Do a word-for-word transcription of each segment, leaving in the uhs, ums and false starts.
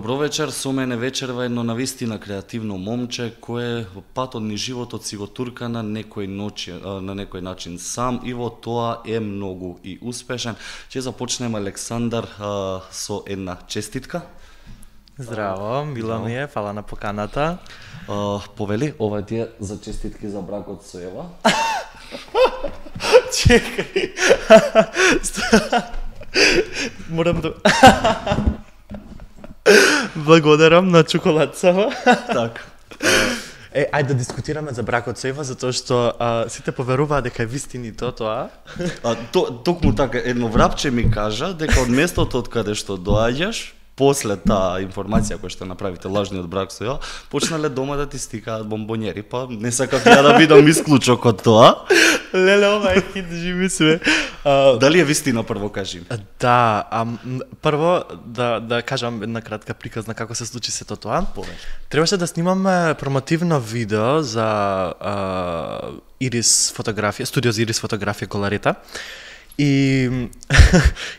Добро вечер, со мене вечерва едно навистина креативно момче кое во патот ни животот си го турка на некој ноќи, на некој начин сам и во тоа е многу и успешен. Ќе започнеме, Александар, со една честитка. Здраво, мило ми е, фала на поканата. Uh, повели, ова ти е за честитки за бракот со Ева. Чекај. Морам да... Благодарам на чоколадцава. Так. Е, ајде да дискутираме за бракот со Ева, затоа што а, сите поверуваат дека е вистинито тоа. А, то, токму така, едно врапче ми кажа дека од местото од каде што доаѓаш, после таа информација која што направите лажниот брак со Ева, почнале дома да ти стикаат бомбонери, па не сакав ја да бидам исклучок од тоа. Леле, ова е хит, живи све. Дали е вистина, прво кажи? Да, а, прво да да кажам една кратка приказна како се случи сето тоа. Повеќе. Требаше да снимаме промотивно видео за а, Ирис фотографија, студио за Ирис фотографија Коларета. И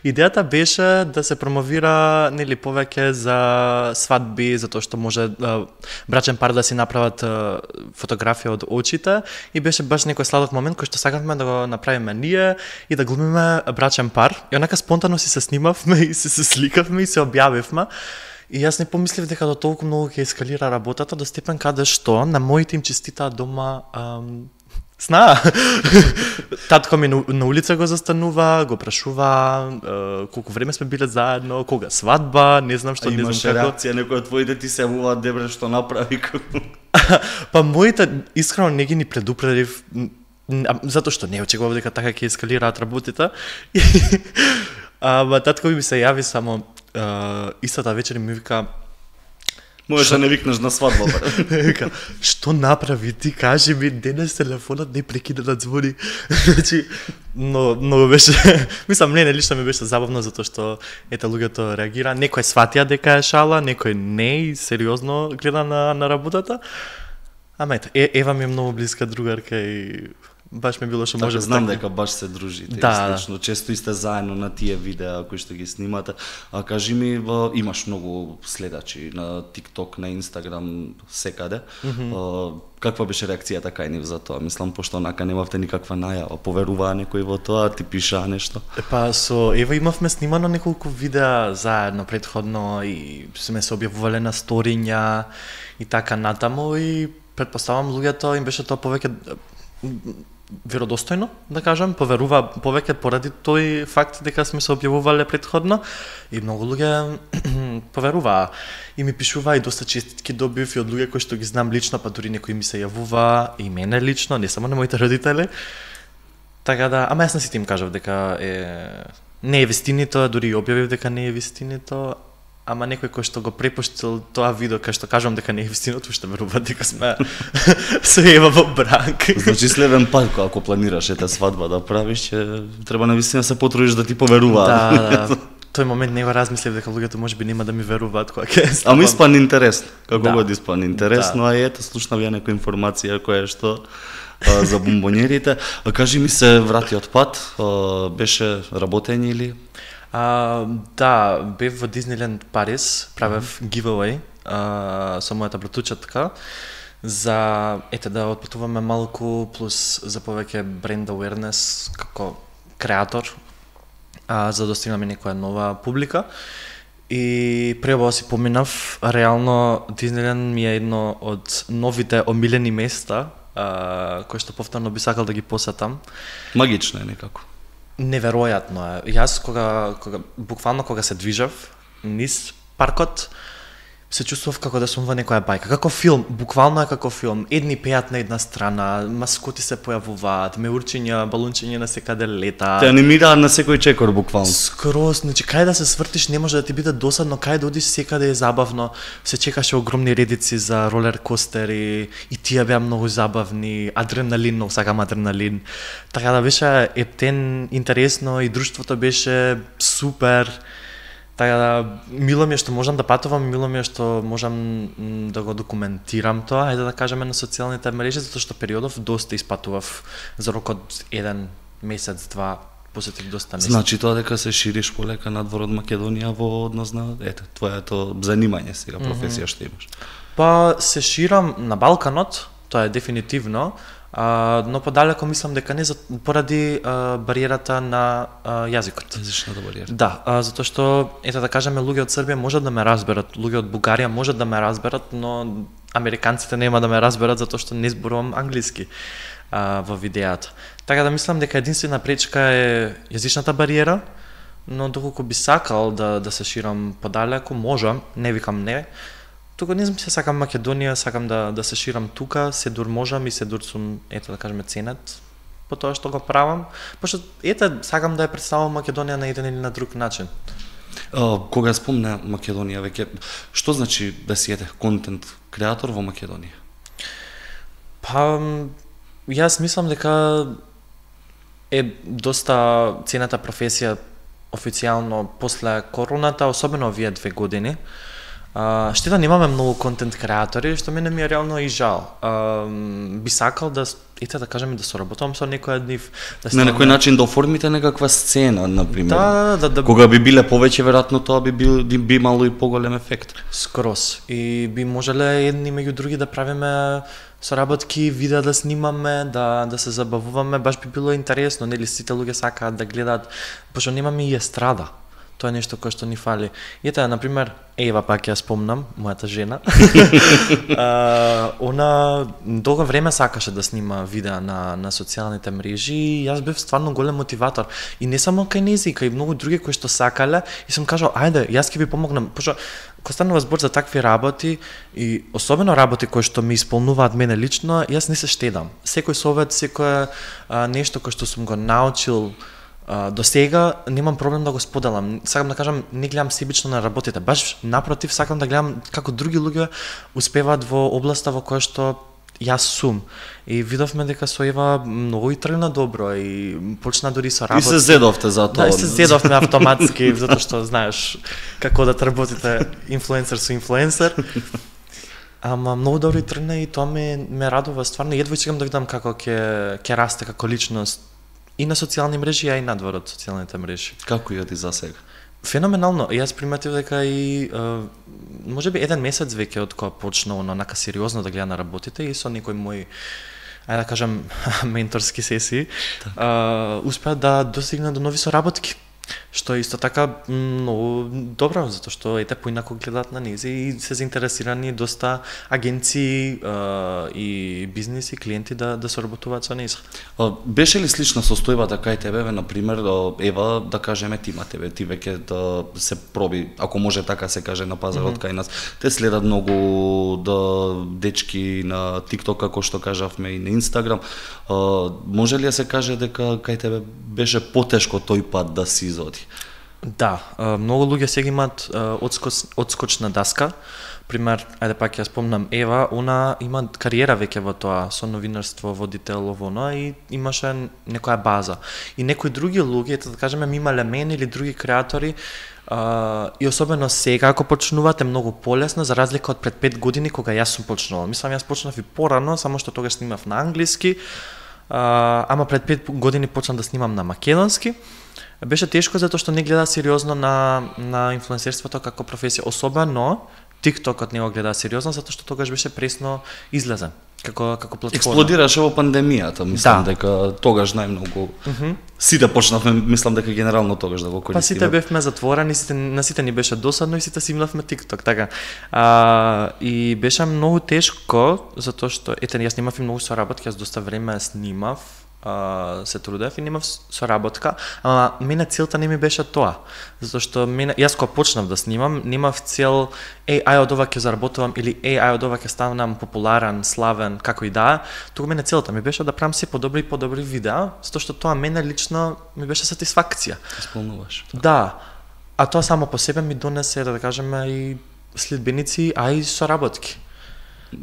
идејата беше да се промовира нели повеќе за свадби, затоа што може а, брачен пар да си направат а, фотографија од очите, и беше баш некој сладок момент кој што сакавме да го направиме ние и да глумиме брачен пар. И онака спонтано си се снимавме и се, се сликавме и се објавивме. И јас не помислив дека до толку многу ќе ескалира работата до степен каде што на моите им честитаа дома ам, сна. Татко ми на, на улица го застанува, го прашува е, колку време сме биле заедно, кога свадба, не знам што, не знам како. Имаше реакција, некој од твоите ти се јавуваат, дебре, што направи како. Па моите искрено не ги ни предупредив, затоа што не очекував дека така ќе ескалираат работите. Ама татко ми се јави само е, истата вечер и ми вика: Можеш да не викнеш на свадба, бе. Вика, што направи ти, кажи ми, денес телефонот не прекида да звони. Значи, но многу беше, мислам, не, не лично ми беше забавно затоа што ете луѓето реагира, некој сватија дека е шала, некој не и сериозно гледа на на работата. Ама ете, е, Ева ми е многу блиска другарка и баш ми било што може да знам дека баш се дружите, да, слично, често и сте заедно на тие видеа кои што ги снимате. А кажи ми, имаш многу следачи на TikTok, на Instagram, секаде. Mm -hmm. Каква беше реакцијата кај нив за тоа? Мислам, пошто онака немавте никаква најава, поверуваа некој во тоа, ти пишаа нешто? Па со Ева имавме снимано неколку видеа заедно предходно и сме се објавувале на сториња и така натаму, и претпоставам луѓето им беше тоа повеќе веродостојно, да кажам, поверува повеќе поради тој факт дека сме се објавувале предходно, и многу луѓе поверуваа и ми пишуваа, и доста честитки добив и од луѓе кои што ги знам лично, па дури некои ми се јавува и мене лично, не само на моите родители. Така да, ама јас на сите им кажав дека е не е вистинито, дури објавив дека не е вистинито. Ама некој кој што го препуштил тоа видео, кај што кажам дека не е вистиното, што верува дека сме се Ева во брак. Значи следен пат ако планираш ета свадба да правиш, ќе треба навистина се потрудиш да ти поверуваат. Да, да. Тој момент не го размислив дека луѓето можеби нема да ми веруваат кога ќе ставам. Ама испан интересно, како да. го испан интересно, да. А ето слушнав ја некоја информација која што а, за бомбонерите. А, кажи ми, се врати од пат, а, беше работење или? А, да, бев во Дизниленд Париз, правев mm -hmm. giveaway а, со мојата братучетка за, ете, да отпатуваме малку, плюс за повеќе бренд awareness како креатор, а, за да достигнеме некоја нова публика. И пред ова си поминав, реално Дизниленд ми е едно од новите омилени места, а, кои што повторно би сакал да ги посетам. Магично е некако. Неверојатно е. Јас кога, кога буквално кога се движав низ паркот, се чувствував како да сум во некоја бајка, како филм, буквално е како филм. Едни пеат на една страна, маскоти се појавуваат, меурчиња, балунчиња на секаде лета. Те анимираат на секој чекор буквално. Скроз, значи кај да се свртиш не може да ти биде досадно, кај да одиш секаде е забавно. Се чекаше огромни редици за ролер костери и тие беа многу забавни, адреналин, многу сакам адреналин. Така да беше ептен, интересно и друштвото беше супер. Така да, мило ми е што можам да патувам, мило ми е што можам да го документирам тоа, ајде да кажеме на социјалните мрежи, затоа што периодов доста испатував за рок од еден месец, два, посетив доста места. Значи тоа дека се шириш полека надвор од Македонија во однос на ете твоето занимање сега, професија што имаш. Па се ширам на Балканот, тоа е дефинитивно, а, но подалеку мислам дека не за, поради а, бариерата на а, јазикот. Јазичната бариера. Да, а, затоа што ете да кажеме луѓе од Србија можат да ме разберат, луѓе од Бугарија можат да ме разберат, но американците нема да ме разберат затоа што не зборувам англиски а, во видеото. Така да мислам дека единствена пречка е јазичната бариера, но доколку би сакал да да се ширам подалеку, можам, не викам не. Тука не знам се сакам Македонија, сакам да да се ширам тука, се дур можам и се дур сум, ето да кажеме, ценет по тоа што го правам, пошто ете сакам да ја представам Македонија на еден или на друг начин. А, кога спомна Македонија веќе, што значи да си ете контент креатор во Македонија? Па јас мислам дека е доста цената професија официјално после короната, особено овие две години. Uh, штета немаме многу контент креатори, што мене ми е реално и жал. Uh, би сакал да, ете да кажеме, да соработувам со некој од нив. Да на некој начин да оформите некаква сцена, например. Да, да, да. Кога би биле повеќе, веројатно тоа би бил би, би имало и поголем ефект. Скроз. И би можеле едни меѓу други да правиме соработки, видеа да снимаме, да да се забавуваме, баш би било интересно, нели сите луѓе сакаат да гледаат, пошто немаме и естрада. Тоа е нешто кое што ни фали. Ете, на пример, Ева пак ја спомнам, мојата жена. uh, она долго време сакаше да снима видеа на на социјалните мрежи и јас бев стварно голем мотиватор. И не само кај нејзи, кај многу други кои што сакале, и сум кажал, ајде, јас ќе ви помогнам, пошто кога станува збор за такви работи и особено работи кои што ми исполнуваат мене лично, јас не се штедам. Секој совет, секое uh, нешто кое што сум го научил Uh, до сега немам проблем да го споделам. Сакам да кажам, не гледам себично на работите. Баш напротив, сакам да гледам како други луѓе успеваат во областа во која што јас сум. И видовме дека со Ева многу и тргна добро и почна дури со работа. И се зедовте за тоа. Да, и се зедовме автоматски, затоа што знаеш како да работите инфлуенсер со инфлуенсер. Ама многу добро и тргна и тоа ме ме радува стварно. Едва чекам да видам како ќе ќе расте како личност и на социјални мрежи, а и надвор од социјалните мрежи. Како јоди за сега? Феноменално. Јас приметив дека и можеби еден месец веќе од кога почна онака сериозно да гледа на работите и со некои мои, ајде да кажам, менторски сесии, успеа да достигна до нови соработки. Што исто така многу добро, затоа што ете поинако гледаат на низ и се заинтересирани доста агенции uh, и бизниси, клиенти да да соработуваат со низ. Беше ли слична состојбата кај тебе, на пример, Ева, да кажеме тима тебе, ти веќе да се проби, ако може така се каже на пазарот mm -hmm. кај нас. Те следат многу да дечки на TikTok, како што кажавме, и на Instagram. Uh, може ли да се каже дека кај тебе беше потешко тој пат да си изоди? Да, многу луѓе сега имаат одскоч, одскочна даска. Пример, ајде пак ја спомнам Ева, она има кариера веќе во тоа, со новинарство, водител, оно, и имаше некоја база. И некои други луѓе, да кажеме, ми имале мене или други креатори, Uh, и особено сега, ако почнувате многу полесно, за разлика од пред пет години, кога јас сум почнувал. Мислам, јас почнав и порано, само што тогаш снимав на англиски, uh, ама пред пет години почнав да снимам на македонски. Беше тешко затоа што не гледа сериозно на, на инфлуенсерството како професија, особено TikTokот не го гледа сериозно, затоа што тогаш беше пресно излезен како како платформа. Експлодираше во пандемијата, мислам да. дека тогаш најмногу mm -hmm. сите почнавме, мислам дека генерално тогаш да го користиме. Па сите бевме затворени, сите на сите ни беше досадно и сите си имавме TikTok, така. А, и беше многу тешко затоа што ете јас немав и многу соработки, јас доста време снимав, Uh, се трудев и немав соработка, ама мене целта не ми беше тоа, затоа што мене јас кога почнав да снимам, немав цел еј ај од ова ќе заработувам или еј ај од ова ќе станам популарен, славен, како и да, туку мене целта ми беше да правам се подобри и подобри видеа, затоа што тоа мене лично ми беше сатисфакција. Исполнуваш. Да. А тоа само по себе ми донесе, да кажеме, и следбеници, а и соработки.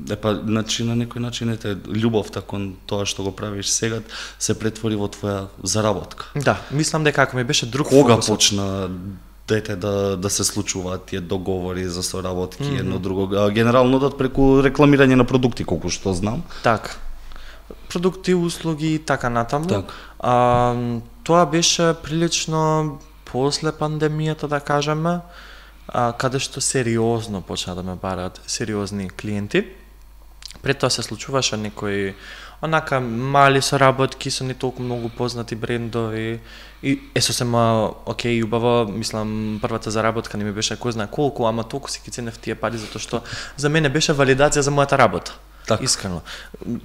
Епа, значи на некој начин ете љубовта кон тоа што го правиш сега се претвори во твоја заработка. Да, мислам дека ако ми беше друг кога фокус, почна дете да да се случуваат тие договори за соработки mm -hmm. едно друго, а, генерално да преку рекламирање на продукти, колку што знам. Така. Продукти, услуги и така натаму. Так. А, тоа беше прилично после пандемијата, да кажеме, а, каде што сериозно почна да ме бараат сериозни клиенти. Пред тоа се случуваше некои онака мали соработки со не толку многу познати брендови и е сосема окей, убаво, мислам, првата заработка не ми беше кој знае колку, ама толку си ги ценев тие пари затоа што за мене беше валидација за мојата работа. Так. Искрено.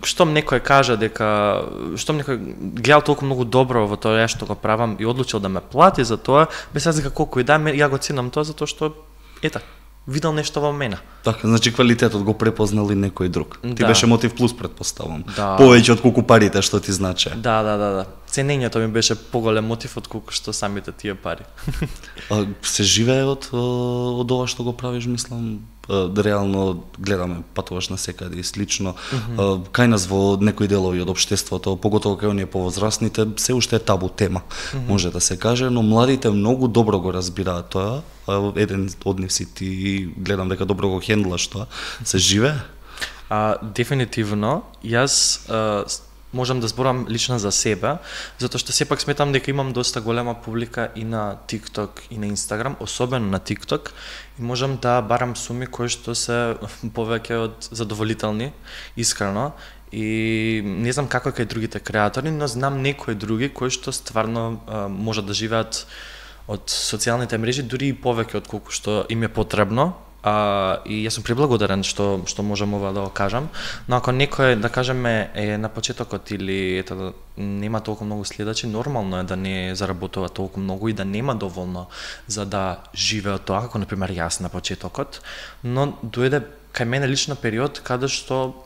Штом некој каже дека, штом некој гледал толку многу добро во тоа што го правам и одлучил да ме плати за тоа, без разлика колку и да, ја го ценам тоа затоа што ета, видел нешто во мене. Така, значи квалитетот го препознал и некој друг. Да. Ти беше мотив плюс, предпоставам. Да. Повеќе од колку парите што ти значи. Да, да, да, да. Ценењето ми беше поголем мотив од колку што самите тие пари. А, се живее од од ова што го правиш, мислам, реално гледаме патуваш на секаде и слично. Mm -hmm. Кај нас во некои делови од општеството, поготово кај оние повозрастните, се уште е табу тема, mm -hmm. може да се каже, но младите многу добро го разбираат тоа. Еден од нив си ти, гледам дека добро го хендлаш тоа. Се живее? А, дефинитивно. Јас а, можам да зборам лично за себе, затоа што сепак сметам дека имам доста голема публика и на TikTok и на Instagram, особено на TikTok, и можам да барам суми кои што се повеќе од задоволителни, искрено, и не знам како е кај другите креатори, но знам некои други кои што стварно а, можат да живеат од социјалните мрежи, дури и повеќе од колку што им е потребно. А, и јас сум преблагодарен што што можам ова да го кажам, но ако некој, да кажеме, е на почетокот или ето нема толку многу следачи, нормално е да не заработува толку многу и да нема доволно за да живее од тоа, како на пример јас на почетокот, но дојде кај мене лично период каде што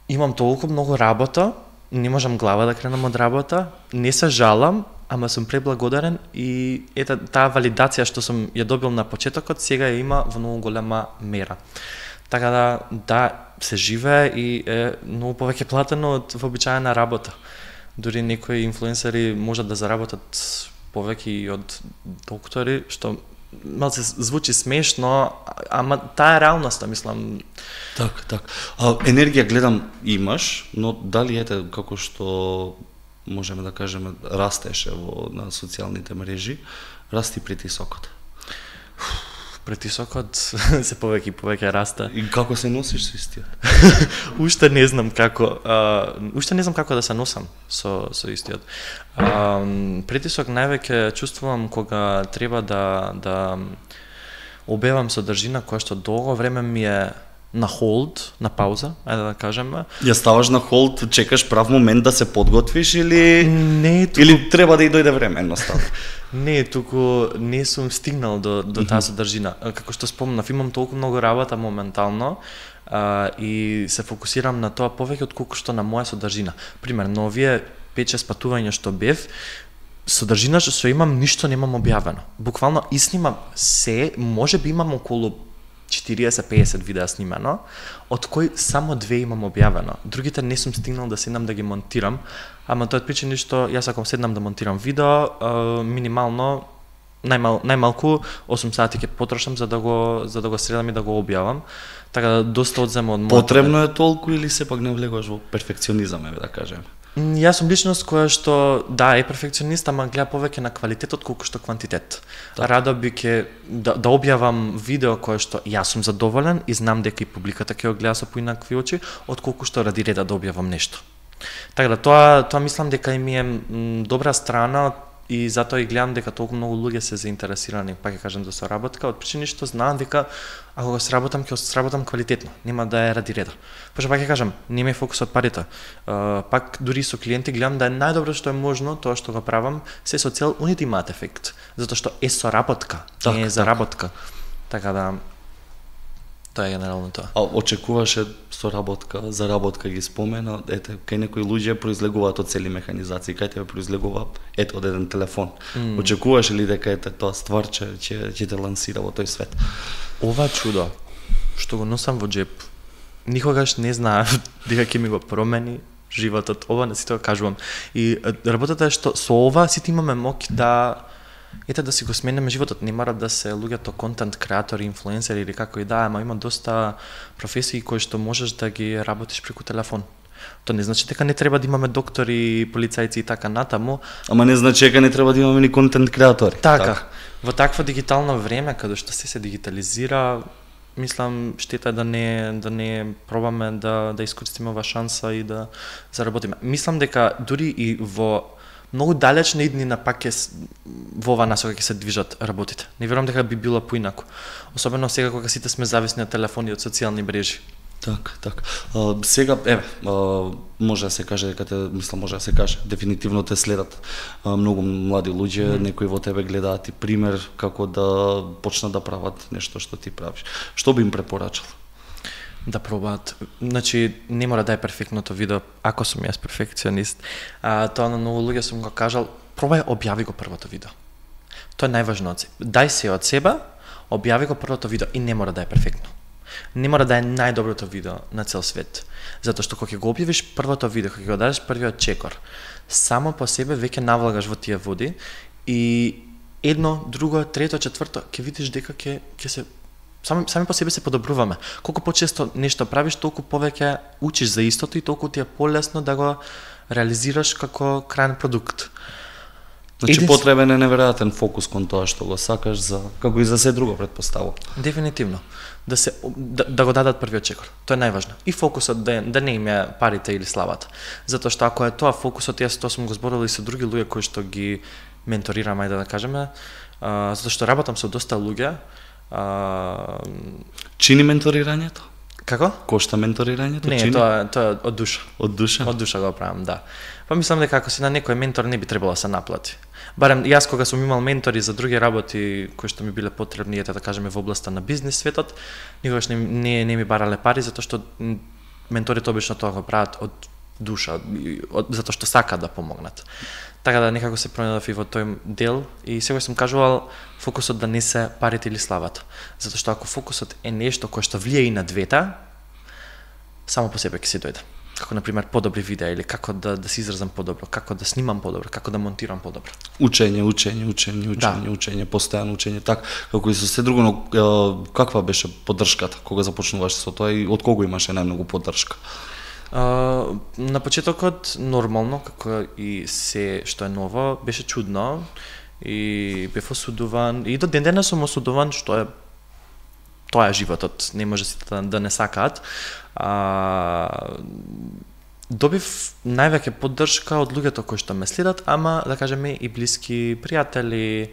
имам толку многу работа, не можам глава да кренам од работа, не се жалам, ама сум преблагодарен и ета таа валидација што сум ја добил на почетокот сега ја има во многу голема мера. Така да, да, се живее и е многу повеќе платено од вообичаена работа. Дури некои инфлуенсери можат да заработат повеќе и од доктори, што малце звучи смешно, ама таа е реалноста, мислам. Так, так. А, енергија гледам имаш, но дали ете како што можеме да кажеме растеше во на социјалните мрежи, расти притисокот. Притисокот се повеќе и повеќе расте. И како се носиш со истиот? Уште не знам како, а, уште не знам како да се носам со со истиот. А, притисок највеќе чувствувам кога треба да да објавам содржина која што долго време ми е на холд, на пауза, ајде да кажеме. Ја ставаш на холд, чекаш прав момент да се подготвиш или не, туку... или треба да и дојде време едноставно? Не, туку не сум стигнал до до таа содржина. Како што спомнав, имам толку многу работа моментално а, и се фокусирам на тоа повеќе од колку што на моја содржина. Пример, на овие пет-шест патувања што бев, содржина што имам ништо немам објавено. Буквално изснимам се, можеби имам околу четириесет-пеесет видеа снимено, од кои само две имам објавено. Другите не сум стигнал да седнам да ги монтирам, ама тоа е причина што јас ако седнам да монтирам видео, минимално најмал, најмалку осум сати ќе потрошам за да го за да го средам и да го објавам. Така да доста одзема од мојот. Потребно е толку или сепак не влегуваш во перфекционизам, еве да кажеме? Јас сум личност која што да е перфекционист, ама гледа повеќе на квалитетот колку што квантитет. Да. Радо би ќе да, да објавам видео кое што јас сум задоволен и знам дека и публиката ќе го гледа со поинакви очи, отколку што ради реда да објавам нешто. Така да тоа тоа мислам дека и ми е м, добра страна и затоа и гледам дека толку многу луѓе се заинтересирани, па ќе кажам за соработка, од причини што знаам дека ако го сработам, ќе го сработам квалитетно, нема да е ради реда. Пошто пак ќе кажам, не ми е фокусот парите. Uh, пак дури со клиенти гледам да е најдобро што е можно тоа што го правам, се со цел они да имаат ефект, затоа што е соработка, так, не е заработка. Така да тоа е генерално тоа. А очекуваше соработка, заработка ги спомена, ете, кај некои луѓе произлегуваат од цели механизации, кај тебе произлегува ето од еден телефон. Mm. Очекуваше ли дека ете тоа стварче ќе ќе те лансира во тој свет? Ова чудо што го носам во джеп, никогаш не знаев дека ќе ми го промени животот. Ова не си тоа кажувам. И работата е што со ова сите имаме моќ да ете да си го смениме животот. Не мора да се луѓето контент креатори, инфлуенсери или како и да, ама има доста професии кои што можеш да ги работиш преку телефон. Тоа не значи дека не треба да имаме доктори, полицајци и така натаму. Ама не значи дека не треба да имаме ни контент креатори. Така, така. Во такво дигитално време каде што се се дигитализира, мислам штета е да не да не пробаме да да искористиме оваа шанса и да заработиме. Мислам дека дури и во многу далечни иднина пак е во оваа насока ќе се движат работите. Не верувам дека би било поинаку. Особено сега кога сите сме зависни од телефони и од социјални мрежи. Так, так. А, сега, еве, а, може да се каже дека те, мислам, може да се каже, дефинитивно те следат а, многу млади луѓе, mm. некои во тебе гледаат и пример како да почнат да прават нешто што ти правиш. Што би им препорачал? Да пробаат. Значи, не мора да е перфектното видео, ако сум јас перфекционист. А, тоа на многу луѓе сум го кажал, пробај објави го првото видео. Тоа е најважно од себе. Дај се од себе, објави го првото видео и не мора да е перфектно. Не мора да е најдоброто видео на цел свет. Затоа што кога ќе го објавиш првото видео, кога ќе го дадеш првиот чекор, само по себе веќе навлагаш во тие води и едно, друго, трето, четврто, ќе видиш дека ќе ќе се сами сами по себе се подобруваме. Колку почесто нешто правиш, толку повеќе учиш за истото и толку ти е полесно да го реализираш како крајен продукт. Значи Един... потребен е неверојатен фокус кон тоа што го сакаш, за како и за се друго претпоставувам. Дефинитивно. Да се да, да го дадат првиот чекор. Тоа е најважно. И фокусот да, да не им е парите или славата. Затоа што ако е тоа фокусот, јас тоа сум го зборил и со други луѓе кои што ги менторирам, ајде да кажеме, а, затоа што работам со доста луѓе. А... Чини менторирањето? Како? Кошта менторирањето? Не, Чини? тоа тоа од душа. Од душа? Од душа го правам, да. Па мислам дека ако си на некој ментор не би требало да се наплати. Барем јас кога сум имал ментори за други работи кои што ми биле потребни, ете да кажеме во областа на бизнес светот, никогаш не не, не ми барале пари затоа што менторите обично тоа го прават од душа, од, затоа што сакаат да помогнат. Така да некако се пронајдов и во тој дел и сега сум кажувал фокусот да не се парите или славата. Затоа што ако фокусот е нешто кое што влие и на двете, само по себе ќе се дојде. Како на пример подобри видеа или како да да се изразам подобро, како да снимам подобро, како да монтирам подобро. Учење, учење, учење, учење, да. учење, постојано учење, така како и со се друго, но е, каква беше поддршката кога започнуваш со тоа и од кого имаше најмногу поддршка? Uh, на почетокот нормално, како и се што е ново, беше чудно и бев осудуван и до ден денес сум осудуван што е тоа е животот, не може сите да, да не сакаат. А, добив највеќе поддршка од луѓето кои што ме следат, ама да кажеме и блиски пријатели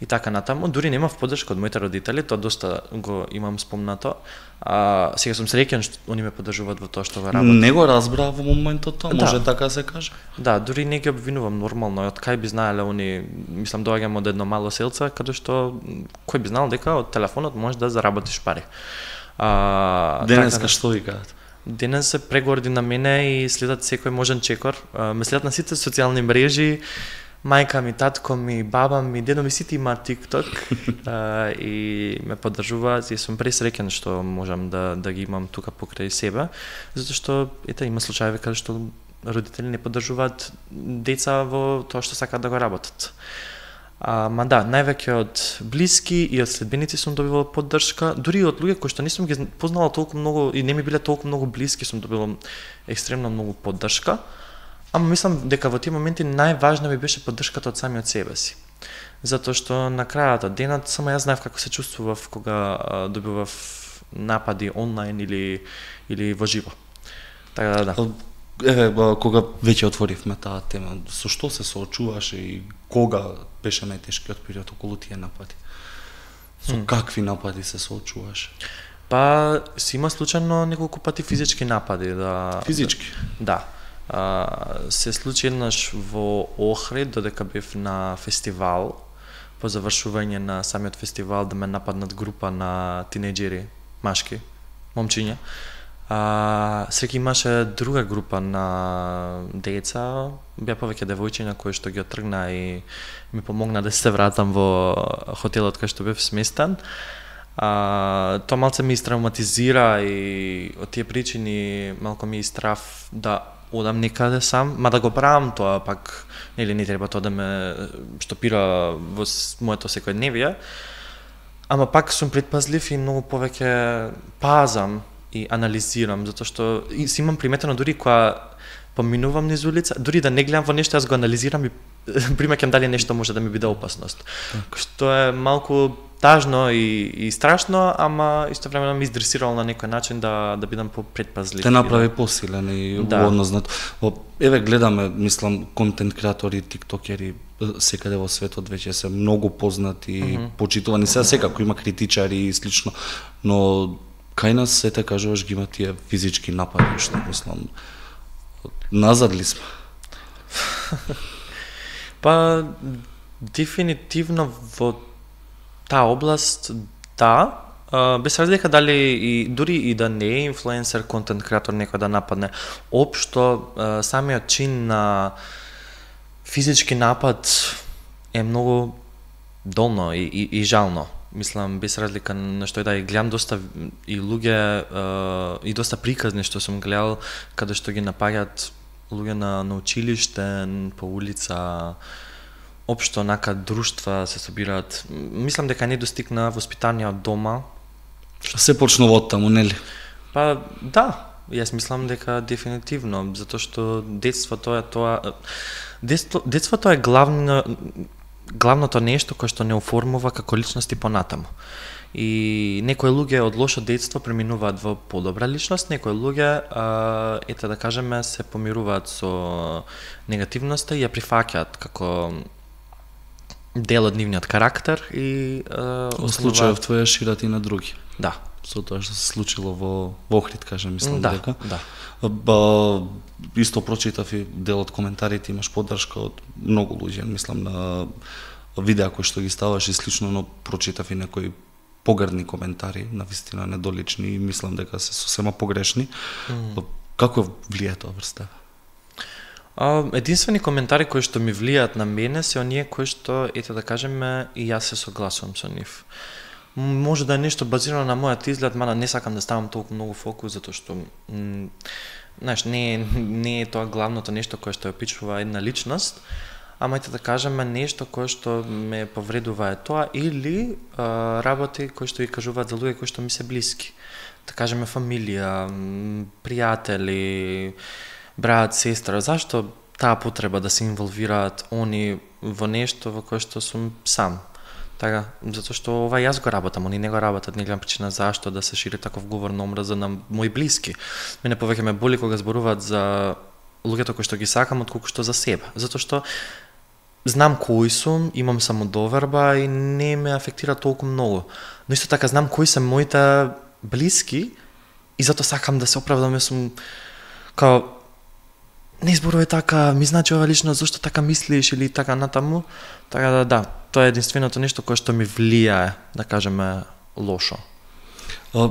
и така натаму. Дури немав поддршка од моите родители, тоа доста го имам спомнато. А, сега сум среќен што они ме поддржуваат во тоа што го работам. Не го разбраа во моментот тоа, може да. така се каже? Да, дури не ги обвинувам нормално, од кај би знаеле они, мислам доаѓам од едно мало селце, каде што кој би знал дека од телефонот можеш да заработиш пари. А, денеска така, што ви кажат? Денес се прегорди на мене и следат секој можен чекор. А, ме следат на сите социјални мрежи. Мајка ми, татко ми, баба ми, дедо ми сите имаат TikTok а, и ме поддржуваат и сум пресреќен што можам да да ги имам тука покрај себе, затоа што ете има случаи каде што родители не поддржуваат деца во тоа што сакаат да го работат. А, ма да, највеќе од блиски и од следбеници сум добивал поддршка, дури и од луѓе кои што не сум ги познала толку многу и не ми биле толку многу блиски, сум добивал екстремно многу поддршка. Ама мислам дека во тие моменти најважна ми беше поддршката од самиот себе си. Затоа што на крајот од денот само јас знаев како се чувствував кога а, добивав напади онлайн или или во живо. Така да, да. Еве, кога веќе отворивме таа тема, со што се соочуваше и кога беше најтешкиот период околу тие напади? Со hmm. какви напади се соочуваше? Па, си има случајно неколку пати физички напади, да. Физички? Да. Uh, се случи еднаш во Охрид, додека бев на фестивал, по завршување на самиот фестивал да ме нападнат група на тинејџери, машки, момчиња. Uh, Среќа имаше друга група на деца, беа повеќе девојчиња кои што ги оттргна и ми помогна да се вратам во хотелот кај што бев сместен. Uh, тоа малце ми истравматизира и од тие причини малку ми истрав да одам некаде сам, ма да го правам тоа пак, нели не треба тоа да ме штопира во моето секојдневие. Ама пак сум предпазлив и многу повеќе пазам и анализирам, затоа што и си имам приметено дури кога поминувам низ улица, дури да не гледам во нешто, јас го анализирам и примеќам дали нешто може да ми биде опасност. Так. Што е малку тажно и, и страшно, ама истовремено ми издресирало на некој начин да да бидам попредпазлив. Те направи посилен и да. Однознат. Еве гледаме, мислам, контент креатори, тиктокери секаде во светот веќе се многу познати и mm -hmm. почитувани. Сега секако има критичари и слично, но кај нас сете кажуваш ги има тие физички напади, што мислам назад ли сме? Па дефинитивно во таа област да, uh, без разлика дали и дури и да не е инфлуенсер, контент креатор некој да нападне, општо uh, самиот чин на физички напад е многу долно и, и, и жално. Мислам, без разлика на што и да и гледам доста и луѓе uh, и доста приказни што сум гледал каде што ги напаѓаат луѓе на, на училиште, по улица, општо нака друштва се собираат. Мислам дека не достигна воспитание од дома. Се почнува од таму, нели? Па да, јас мислам дека дефинитивно, затоа што детството е тоа детство, детството е главно главното нешто кое што не оформува како личности понатаму. И некои луѓе од лошо детство преминуваат во подобра личност, некои луѓе, а, ете да кажеме, се помируваат со негативноста и ја прифаќаат како дел од нивниот карактер и а, во случајов твоја шират и на други. Да. Со тоа што се случило во во Охрид, кажам, мислам да, дека. Да. Ба, исто прочитав и дел од коментарите, имаш поддршка од многу луѓе, мислам на видеа кои што ги ставаш и слично, но прочитав и некои погрдни коментари, навистина недолични и мислам дека се сосема погрешни. Mm. Како влие тоа врз тебе? А, единствени коментари кои што ми влијаат на мене се оние кои што, ете да кажеме, и јас се согласувам со нив. Може да е нешто базирано на мојот изглед, мада не сакам да ставам толку многу фокус, затоа што знаеш, не, не е тоа главното нешто кое што ја опишува една личност, ама ете да кажеме нешто кое што ме повредува е тоа или а, работи кои што ги кажуваат за луѓе кои што ми се блиски. Да кажеме фамилија, пријатели, брат, сестра. Зашто таа потреба да се инволвираат они во нешто во кое што сум сам? Така, затоа што ова јас го работам, они не го работат, не гледам причина зашто да се шири таков говор на омраза на мои блиски. Мене повеќе ме боли кога зборуваат за луѓето кои што ги сакам отколку што за себе. Затоа што знам кои сум, имам самодоверба и не ме афектира толку многу. Но исто така знам кои се моите блиски и затоа сакам да се оправдам, јас сум као не зборувај така, ми значи ова лично зашто така мислиш или така натаму. Така да да, тоа е единственото нешто кое што ми влијае, да кажеме, лошо. А,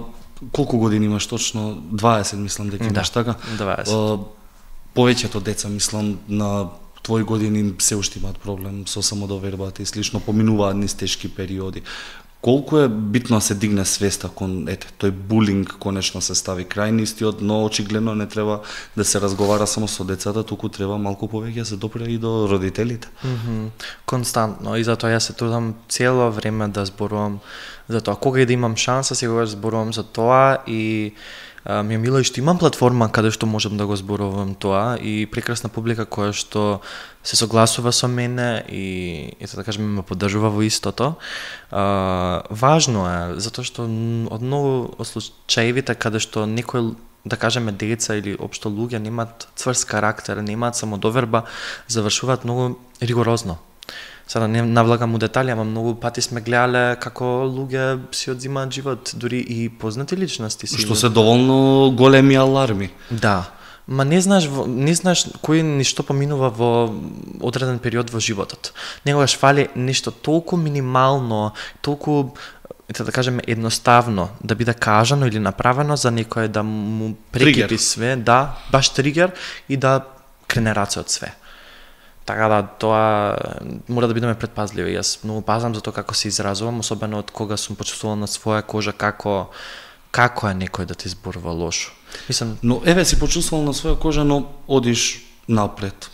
колку години имаш точно? дваесет мислам дека имаш, да, така? дваесет. А, повеќето деца мислам на твои години се уште имаат проблем со самодовербата и слично, поминуваат низ тешки периоди. Колку е битно да се дигне свеста кон ете тој булинг конечно се стави крај на истиот, но очигледно не треба да се разговара само со децата, туку треба малку повеќе да се допре и до родителите. Mm -hmm. Константно, и затоа јас се трудам цело време да зборувам за тоа. Кога и да имам шанса, секогаш зборувам за тоа и а, ми е мило и што имам платформа каде што можам да го зборувам тоа и прекрасна публика која што се согласува со мене и ето да кажеме ме поддржува во истото. А, важно е затоа што од многу од случаевите каде што некој да кажеме деца или општо луѓе немаат цврст карактер, немаат самодоверба, завршуваат многу ригорозно. Сега не навлагам у детали, ама многу пати сме гледале како луѓе си одзимаат живот, дури и познати личности си. Што се доволно големи аларми. Да. Ма не знаеш, не знаеш кој ништо поминува во одреден период во животот. Негогаш фали нешто толку минимално, толку да кажеме едноставно да биде кажано или направено за некој да му прекипи све, да, баш тригер и да крене раце од све. Така да, тоа мора да бидеме предпазливи. Јас многу пазам за тоа како се изразувам, особено од кога сум почувствувал на своја кожа како како е некој да ти зборува лошо. Мислам, но еве си почувствувал на своја кожа, но одиш напред.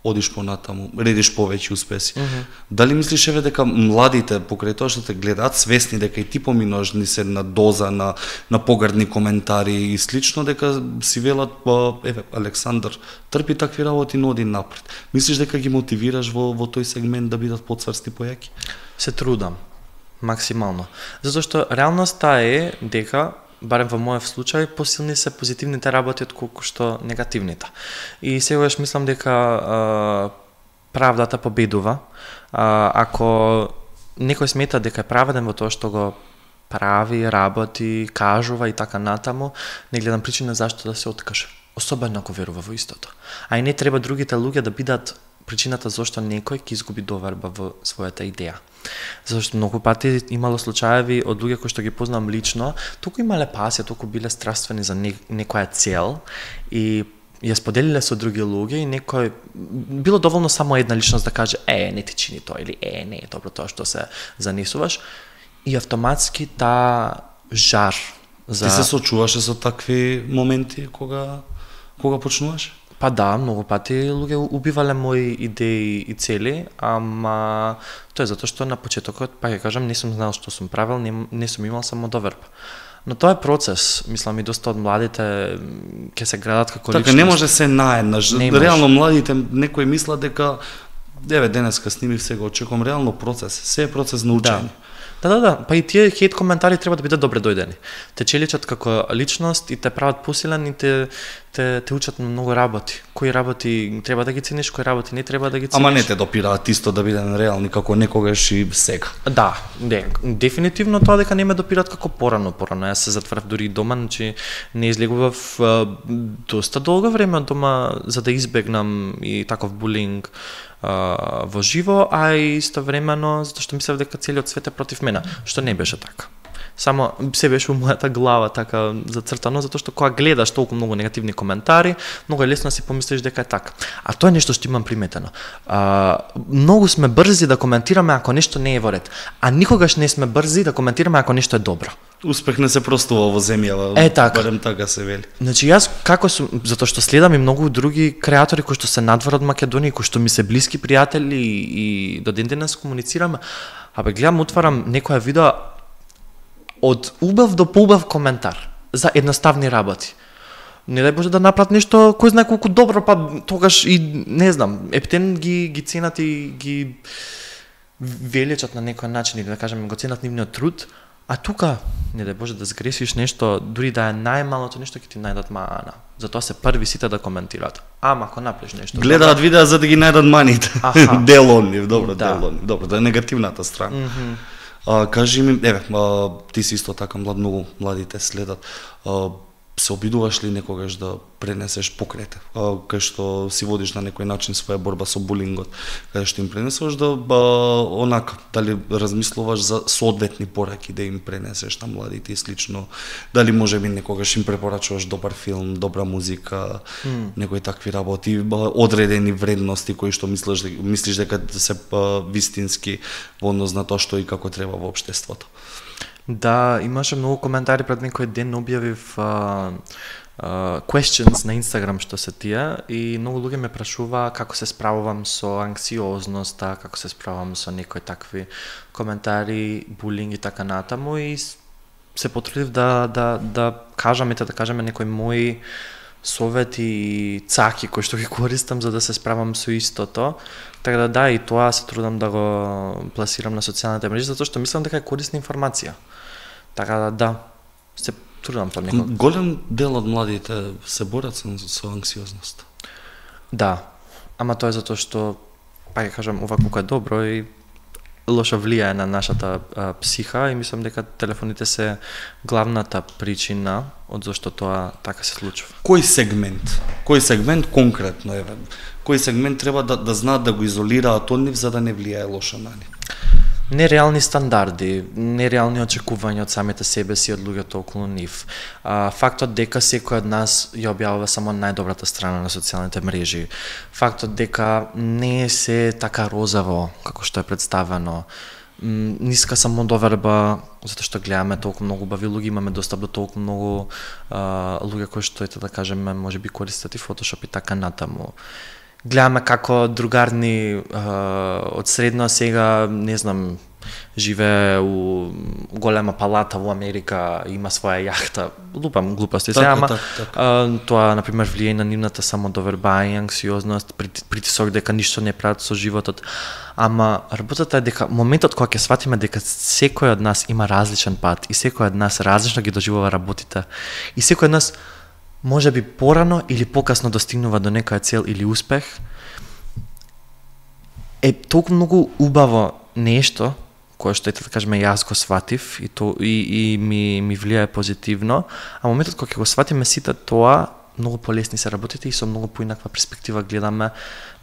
одиш понатаму, редиш повеќе успеси. Mm -hmm. Дали мислиш еве дека младите покрај тоа што те гледаат свесни дека и ти поминуваш ни се на доза на на погрдни коментари и слично, дека си велат па еве Александар трпи такви работи, но оди напред. Мислиш дека ги мотивираш во во тој сегмент да бидат поцврсти појаки? Се трудам максимално. Затоа што реалноста е дека барем во мојот случај, посилни се позитивните работи отколку што негативните. И сегаш мислам дека а, правдата победува. А, ако некој смета дека е праведен во тоа што го прави, работи, кажува и така натаму, не гледам причина зашто да се откаже. Особено ако верува во истото. А и не треба другите луѓе да бидат причината зашто некој ќе изгуби доверба во својата идеја. Зашто многу пати имало случаеви од луѓе кои што ги познам лично, толку имале пасија, толку биле страствени за не, некоја цел и ја споделиле со други луѓе и некој било доволно само една личност да каже е, не ти чини тоа или е, не е добро тоа што се занесуваш и автоматски таа жар за... Ти се сочуваше со такви моменти кога кога почнуваш? Па да, многу пати луѓе убивале мои идеи и цели, ама тоа е затоа што на почетокот, па ќе кажам, не сум знал што сум правил, не, не сум имал само доверба. Но тоа е процес, мислам и доста од младите ќе се градат како така, личност. Така не може се наеднаш. Реално младите некои мислат дека еве денеска снимив, сега очекувам, реално процес, се е процес на учење. Да. Да, да, да, па и тие хейт коментари треба да бидат добре дојдени. Те челичат како личност и те прават посилен и те, те, те учат на многу работи. Кои работи треба да ги цениш, кои работи не треба да ги цениш. Ама не те допираат исто да бидеме реални како некогаш и сега. Да, не, дефинитивно тоа дека не ме допираат како порано, порано. Јас се затворив дури и дома, значи не излегував доста долго време од дома за да избегнам и таков булинг Uh, во живо, а и истовремено затоа што мислев дека целиот свет е против мене, што не беше така. Само се беше во мојата глава така зацртано, затоа што кога гледаш толку многу негативни коментари, многу е лесно да си помислиш дека е така. А тоа е нешто што имам приметено. Uh, многу сме брзи да коментираме ако нешто не е во ред, а никогаш не сме брзи да коментираме ако нешто е добро. Успех не се простува во земјава, е, така. Барем така се вели. Значи јас како сум, затоа што следам и многу други креатори кои што се надвор од Македонија, кои што ми се блиски пријатели и, и до ден денес комуницираме, абе гледам, отварам некоја видео од убав до поубав коментар за едноставни работи. Не дај Боже да направат нешто кој знае колку добро, па тогаш и не знам, ептен ги ги ценат и ги величат на некој начин или да кажеме го ценат нивниот труд. А тука, не дај Боже да сгрешиш нешто, дури да е најмалото нешто, ќе ти најдат маана. Затоа се први сите да коментираат. Ама ако направиш нешто... Гледаат добро... видеа за да ги најдат маните. Дел од нив, добро, да. дел од нив. Добро, да е негативната страна. Mm -hmm. а, кажи ми, еве, а, ти си исто така млад, многу младите следат. А, се обидуваш ли некогаш да пренесеш покрајте, кај што си водиш на некој начин своја борба со булингот, кај што им пренесеш да ба, онака, дали размислуваш за соодветни пораки да им пренесеш на младите и слично, дали може би некогаш им препорачуваш добар филм, добра музика, mm. некои такви работи, одредени вредности кои што мислиш, мислиш дека се вистински во однос на тоа што и како треба во општеството. Да, имаше многу коментари пред некој ден, објавив uh, uh, questions на Инстаграм што се тие и многу луѓе ме прашува како се справувам со анксиозноста, како се справувам со некои такви коментари, булинг и така натаму и се потрудив да да да кажам ете да кажеме некои мои совети и цаки кои што ги користам за да се справам со истото. Така да да, и тоа се трудам да го пласирам на социјалните мрежи затоа што мислам дека е корисна информација. Така да да, се трудам понекогаш. Голем дел од младите се борат со, со анксиозност. Да, ама тоа е затоа што, па ќе кажам, ова колку е добро и лошо влијае на нашата а, психа и мислам дека телефоните се главната причина од зашто тоа така се случува. Кој сегмент, кој сегмент конкретно еве, кој сегмент треба да да знаат да го изолираат од нив за да не влијае лошо на нив? Нереални стандарди, нереални очекувања од самите себе си од луѓето околу нив. А, фактот дека секој од нас ја објавува само најдобрата страна на социјалните мрежи. Фактот дека не е се така розово како што е представено. Ниска самодоверба, затоа што гледаме толку многу убави луѓе, имаме достап до толку многу а, луѓе кои што ете да кажеме можеби користат и Photoshop и така натаму. гледаме како другарни од средно сега, не знам, живее у голема палата во Америка, има своја јахта, лупам глупости се, ама так, так. а, тоа, например, влијае на нивната самодоверба и анксиозност, притисок дека ништо не прават со животот. Ама работата е дека моментот кога ќе сватиме дека секој од нас има различен пат и секој од нас различно ги доживува работите и секој од нас може би порано или покасно достигнува до некоја цел или успех, е толку многу убаво нешто кое што ете да кажеме јас го сватив и то и, и ми ми влијае позитивно, а моментот кога ќе го сватиме сите тоа, многу полесни се работите и со многу поинаква перспектива гледаме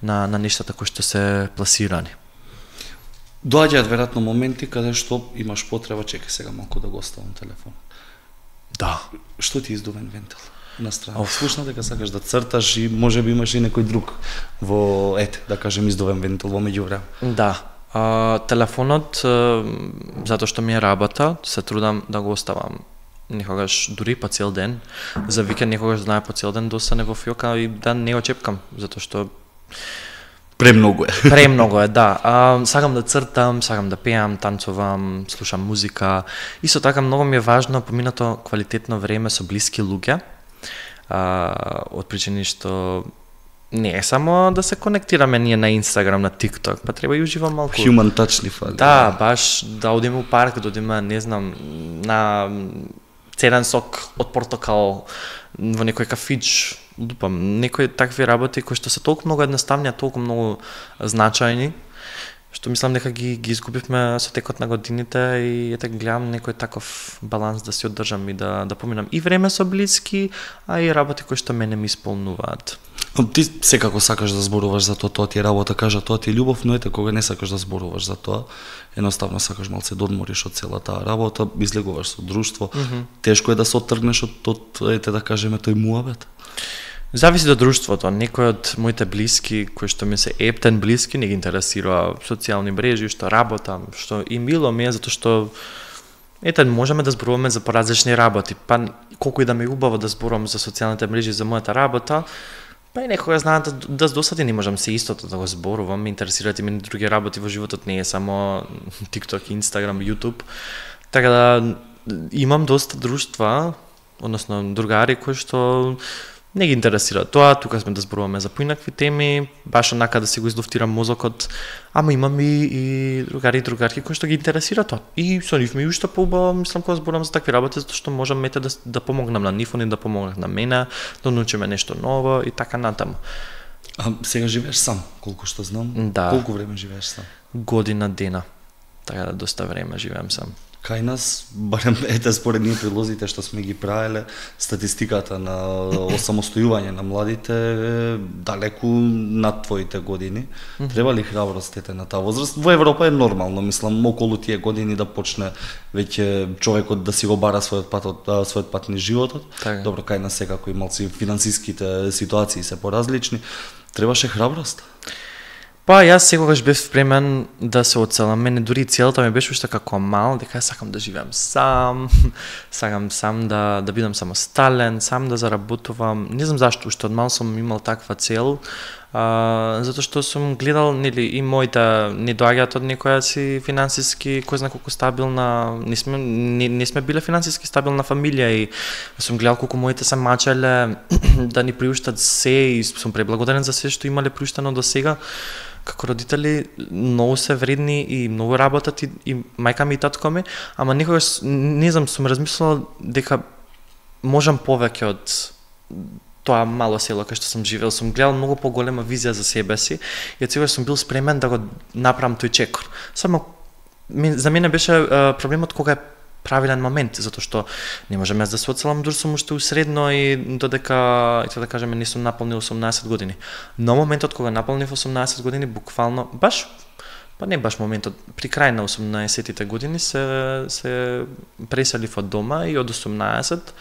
на на нештата кои што се пласирани. Доаѓаат веројатно моменти каде што имаш потреба, чекај сега малку да го оставам телефон. Да. Што ти издувен вентил на страна? Слушна дека сакаш да црташ и можеби имаш и некој друг во, ете, да кажем, издувен вентил во меѓувреме. Да. А, телефонот, а, затоа што ми е работа, се трудам да го оставам некогаш дури по цел ден. За викенд некогаш знае по цел ден да остане во фиока и да не го чепкам, затоа што премногу е. Премногу е, да. А, сакам да цртам, сакам да пеам, танцувам, слушам музика. Исто така многу ми е важно поминато квалитетно време со блиски луѓе. А, од причини што не е само да се конектираме ние на Инстаграм, на TikTok, па треба и уживам малку. Human touch ни фали. Да, баш да одиме у парк, да одиме, не знам, на цеден сок од портокал во некој кафич, лупам, некои такви работи кои што се толку многу едноставни, а толку многу значајни, што мислам дека ги ги изгубивме со текот на годините и ете гледам некој таков баланс да си одржам и да да поминам и време со блиски, а и работи кои што мене ми исполнуваат. Ти секако сакаш да зборуваш за тоа, тоа ти е работа, кажа тоа ти е љубов, но ете кога не сакаш да зборуваш за тоа, едноставно сакаш малце да одмориш од целата таа работа, излегуваш со друштво. Mm -hmm. Тешко е да се оттргнеш од, од ете да кажеме тој муабет. Зависи од друштвото. Некои од моите блиски, кои што ми се ептен блиски, не ги интересира социјални мрежи, што работам, што и мило ми е, затоа што ете, можеме да зборуваме за поразлични работи. Па колку и да ми е убаво да зборувам за социјалните мрежи, за мојата работа, па и некога знаат да, да досади не можам се истото да го зборувам, ме интересираат и мене други работи во животот, не е само TikTok, Instagram, YouTube. Така да имам доста друштва, односно другари кои што не ги интересира тоа, тука сме да зборуваме за поинакви теми, баш онака да си го излуфтирам мозокот, ама имам и, и другари и другарки кои што ги интересира тоа. И со нив ми уште поубаво, мислам, кога зборувам за такви работи, затоа што можам мете да, да помогнам на нив, они да помогнат на мене, да научиме нешто ново и така натаму. А сега живееш сам, колку што знам? Да. Колку време живееш сам? Година дена. Така да доста време живеам сам. Кај нас, барем ете според ние прилозите што сме ги правеле, статистиката на осамостојување на младите е далеку над твоите години. Mm -hmm. Треба ли храброст ете на таа возраст? Во Европа е нормално, мислам, околу тие години да почне веќе човекот да си го бара својот пат од својот пат низ животот. Так. Добро, кај нас секако и малци финансиските ситуации се поразлични. Требаше храброст? Па јас секогаш бев спремен да се оцелам. Мене дури целта ми беше уште како мал, дека сакам да живеам сам, сакам сам да да бидам самостален, сам да заработувам. Не знам зашто, уште од мал сум имал таква цел, а, затоа што сум гледал, нели, и моите не доаѓаат од некоја си финансиски, кој знае колку стабилна, не сме не, не сме биле финансиски стабилна фамилија и сум гледал колку моите се мачеле да ни приуштат се и сум преблагодарен за се што имале приуштено до сега. Како родители многу се вредни и многу работат и, и мајка ми и татко ми, ама некогаш не знам, сум размислила дека можам повеќе од тоа мало село кај што сум живеел, сум гледал многу поголема визија за себе си и од сега сум бил спремен да го направам тој чекор. Само за мене беше uh, проблемот кога е правилен момент, затоа што не можам јас да се оцелам, дур сум уште усредно и додека, и да кажеме, не сум наполнил осумнаесет години. Но моментот кога наполнив осумнаесет години, буквално, баш, па не баш моментот, при крај на осумнаесеттите години се, се преселив од дома и од осумнаесет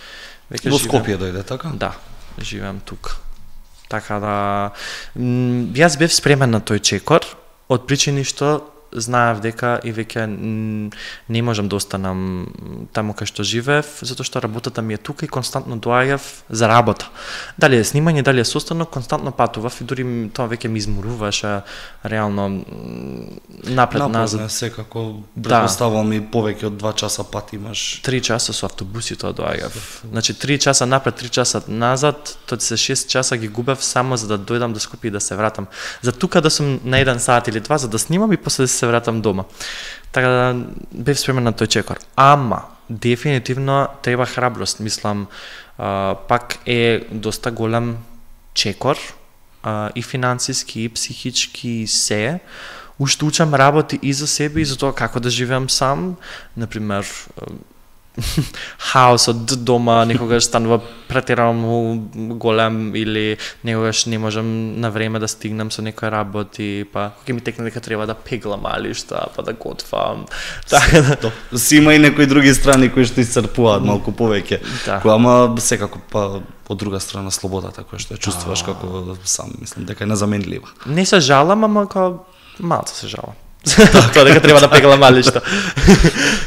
веќе во Скопје дојде, така? Да, живеам тука. Така да, јас бев спремен на тој чекор, од причини што знаев дека и веќе не можам да останам таму кај што живеев, затоа што работата ми е тука и константно доаѓав за работа. Дали е снимање, дали е состанок, константно патував и дури тоа веќе ми изморуваше реално напред назад. Напразно е секако, предпоставувам и повеќе од два часа пат имаш. Три часа со автобуси тоа доаѓав. Значи три часа напред, три часа назад, тоа се шест часа ги губев само за да дојдам до Скопје и да се вратам. За тука да сум на еден сат или два за да снимам и после да се вратам дома. Така да бев спремен на тој чекор. Ама дефинитивно треба храброст, мислам, а, пак е доста голем чекор а, и финансиски и психички и се. Уште учам работи и за себе и за тоа како да живеам сам, например хаосот дома некогаш станува претерано голем или некогаш не можам на време да стигнам со некои работи, па кога ми текне дека треба да пеглам алишта, па да готвам. Така да си има и некои други страни кои што исцрпуваат малку повеќе. Да. Која ама секако па од друга страна слободата која што ја чувствуваш како сам, мислам дека е незаменлива. Не се жалам, ама како малку се жалам. Тоа дека треба да пеглам алишта.